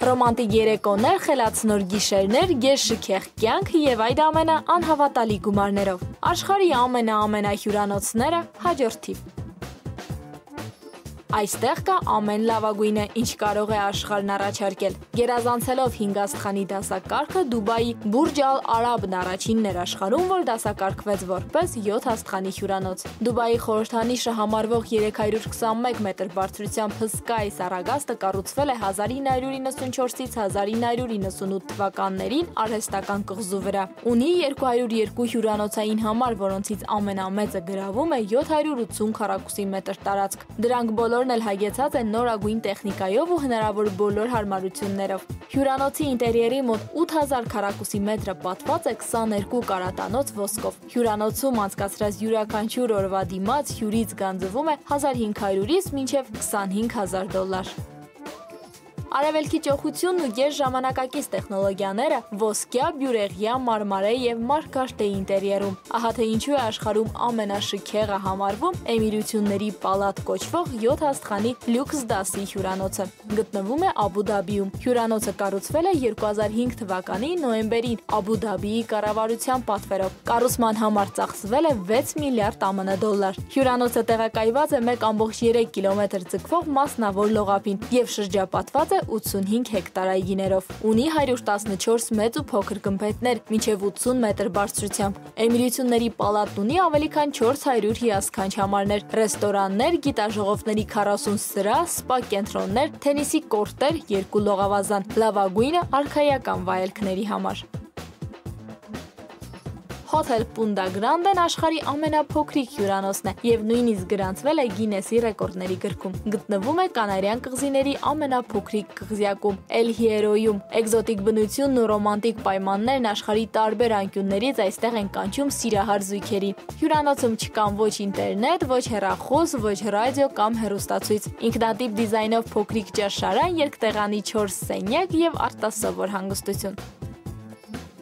Ռոմանտիկ երեկոներ, խելացնոր գիշերներ, գեշ շքեղ կյանք եւ այդ ամենը անհավատալի գումարներով։ Աշխարհի ամենա-ամենա հյուրանոցները հաջորդ թիվ։ Այստեղ կա ամեն լավագույնը, ինչ կարող է աշխարհն առաջարկել։ Գերազանցելով հինգ աստղանի դասակարգը, Դուբայի Բուրջ Ալ Արաբն առաջինն էր աշխարհում, որ դասակարգվեց որպես յոթ աստղանի հյուրանոց։ Դուբայի խորհրդանիշը համարվող երեք հարյուր քսանմեկ մետր բարձրությամբ հսկա այս առագաստը կառուցվել է հազար ինը հարյուր իննսունչորսից հազար ինը հարյուր իննսունութ թվականներին արհեստական կղզու վրա։ Ունի երկու հարյուր երկու հյուրանոցային համար, որոնցից ամենամեծը գրավում է յոթ հարյուր ութսուն քառակուսի մետր տարածք։ Դրանք բոլոր էլ հայգեցած են նորագույն տեխնիկայով ու հնարավոր բոլոր հարմարություններով։ Հյուրանոցի ինտերիերի մոտ ութ հազար քառակուսի մետրը պատված է քսաներկու կարատանոց ոսկով։ Հյուրանոցում անցկացրած յուրաքանչյուր օրվա դիմաց հյուրից գանձվում է հազար հինգ հարյուրից մինչև քսանհինգ հազար դոլար։ Արևելքի ճոխությունն ու գեր ժամանակակից տեխնոլոգիաները ոսկյա, բյուրեղյա, մարմարե եւ մարգարտե ինտերիերում։ Ահա թե ինչու է աշխարհում ամենաշքեղը համարվում Էմիրությունների պալատ կոչվող յոթ աստղանի լյուքս դասի հյուրանոցը։ Գտնվում է Աբու Դաբիում։ Հյուրանոցը կառուցվել է երկու հազար հինգ թվականի նոյեմբերին Աբու Դաբիի կառավարության պատվերով։ Կառուցման համար ծախսվել է վեց միլիարդ ԱՄՆ դոլար։ Հյուրանոցը տեղակայված է մեկ կόμma երեք կիլոմետր ձգվող մասնավոր լողափին եւ շրջապատված է ութսունհինգ հեկտար այգիներով։ Ունի հարյուր տասնչորս մեծ ու փոքր գմբեթներ, մինչև ութսուն մետր բարձրությամբ։ Էմիրությունների պալատն ունի ավելի քան չորս հարյուր հիասքանչ համարներ, ռեստորաններ, գիտաժողովների քառասուն սրահ, սպա կենտրոններ, թենիսի կորտեր, երկու լողավազան, լավագույնը արքայական վայելքների համար։ Հոթել Պունդա Գրանդեն աշխարհի ամենափոքրիկ հյուրանոցն է եւ նույնիսկ գրանցվել է Գինեսի ռեկորդների գրքում։ Գտնվում է Կանարյան կղզիների ամենափոքրիկ կղզյակում՝ Էլ Հիերոյում։ Էկզոտիկ բնությունն ու ռոմանտիկ պայմաններն աշխարհի տարբեր անկյուններից այստեղ են կանչում սիրահար զույգերի։ Հյուրանոցում չկան ոչ ինտերնետ, ոչ հեռախոս, ոչ ռադիո կամ հեռուստացույց։ Ինքնատիպ դիզայնով փոքրիկ ճաշարան, երկտեղանի չորս սենյակ եւ արտասովոր հանգստություն։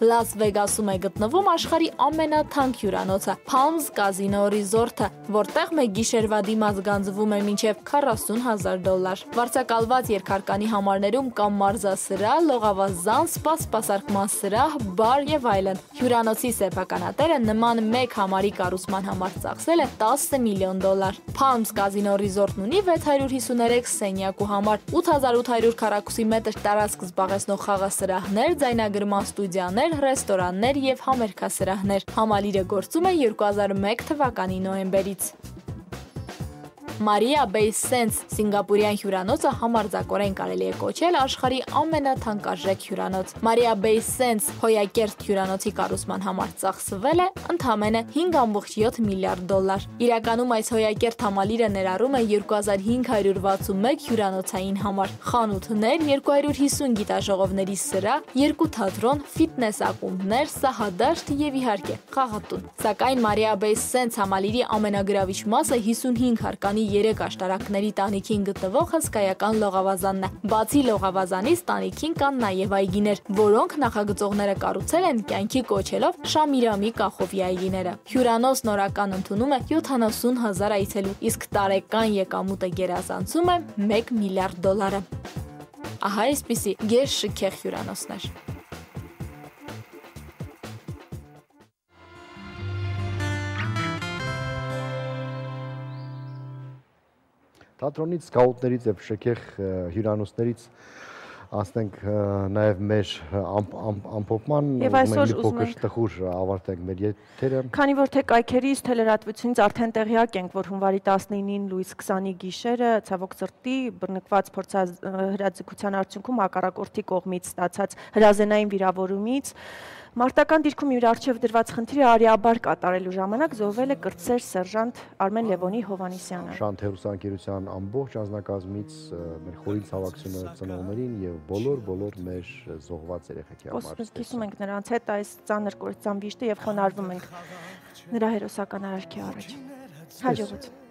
Լաս Վեգասում է գտնվում աշխարհի ամենաթանկ հյուրանոցը՝ Palms Casino Resort-ը, որտեղ մեկ գիշերվա դիմաց գանձվում է մինչև քառասուն հազար դոլար։ Վարձակալված երկհարկանի համարներում կան մարզասրահ, լողավազան, սպա սպասարկման սրահ, բար եւ այլն։ Հյուրանոցի սեփականատերը նման մեկ համարի կառուցման համար ծախսել է տասը միլիոն դոլար։ Palms Casino Resort-ն ունի վեց հարյուր հիսուներեք սենյակ ու համար, ութ հազար ութ հարյուր քառակուսի մետր տարածք զբաղեցնող խաղասրահներ, ձայնագրման ստուդիաներ, ռեստորաններ եւ համերգասրահներ։ Համալիրը գործում է երկու հազար մեկ թվականի նոյեմբերից։ Մարիա Bay Sands սինգապուրյան հյուրանոցը համարձակորեն կարելի է կոչել աշխարհի ամենաթանկարժեք հյուրանոց։ Մարիա Bay Sands հոյակերտ հյուրանոցի կառուցման համար ծախսվել է ընդամենը հինգ կόμma յոթ միլիարդ դոլար։ Իրականում այս հոյակերտ համալիրը ներառում է երկու հազար հինգ հարյուր վաթսունմեկ հյուրանոցային համար, խանութներ, երկու հարյուր հիսուն գիտաժողովների սրահ, երկու թատրոն, ֆիթնես ակումբներ, սահադաշտ եւ իհարկե խաղատուն։ Սակայն Մարիա Bay Sands համալիրի ամենագրավիչ մասը հիսունհինգ հարկանի երեք աշտարակների տանիքին գտնվող հսկայական լողավազանն է։ Բացի լողավազանից տանիքին կան նաև այգիներ, որոնք նախագծողները կառուցել են կյանքի կոչելով Շամիրամի կախովի այգիները։ Հյուրանոցն օրական ընդունում է յոթանասուն հազար այցելու, իսկ տարեկան եկամուտը գերազանցում է մեկ միլիարդ դոլարը։ Ահա այսպիսի գեշ շքեղ հյուրանոցներ։ Թատրոնից, սկաուտներից եւ շքեղ հյուրանոցներից Անցնենք նաև մեր ամփոփման Եվ այսօր ուզում ենք տխուր ավարտենք մեր եթերը։ Քանի որ թե կայքերից թելերատվությունից արդեն տեղյակ ենք, որ հունվարի տասնինին լույս քսանի գիշերը ցավոք սրտի բռնկված փորձահրաձգության արդյունքում հակառակորդի կողմից ստացած հրազենային վիրավորումից Մարտական դիրքում իր առջև դրված խնդիրը արիաբար կատարելու ժամանակ զոհվել է կրտսեր սերժանտ Արմեն Լևոնի Հովհաննիսյանը։ Շանթ հեռուստաընկերության ամբողջ անձնակազմից մեր խորին ցավակցությունը ծնողներին եւ բոլոր բոլոր մեր զոհված երեխեքի համար։ Կիսում ենք նրանց հետ այս ծանր կործան վիշտը եւ խոնարհվում ենք նրա հերոսական արարքի առաջ։ Հաջողություն։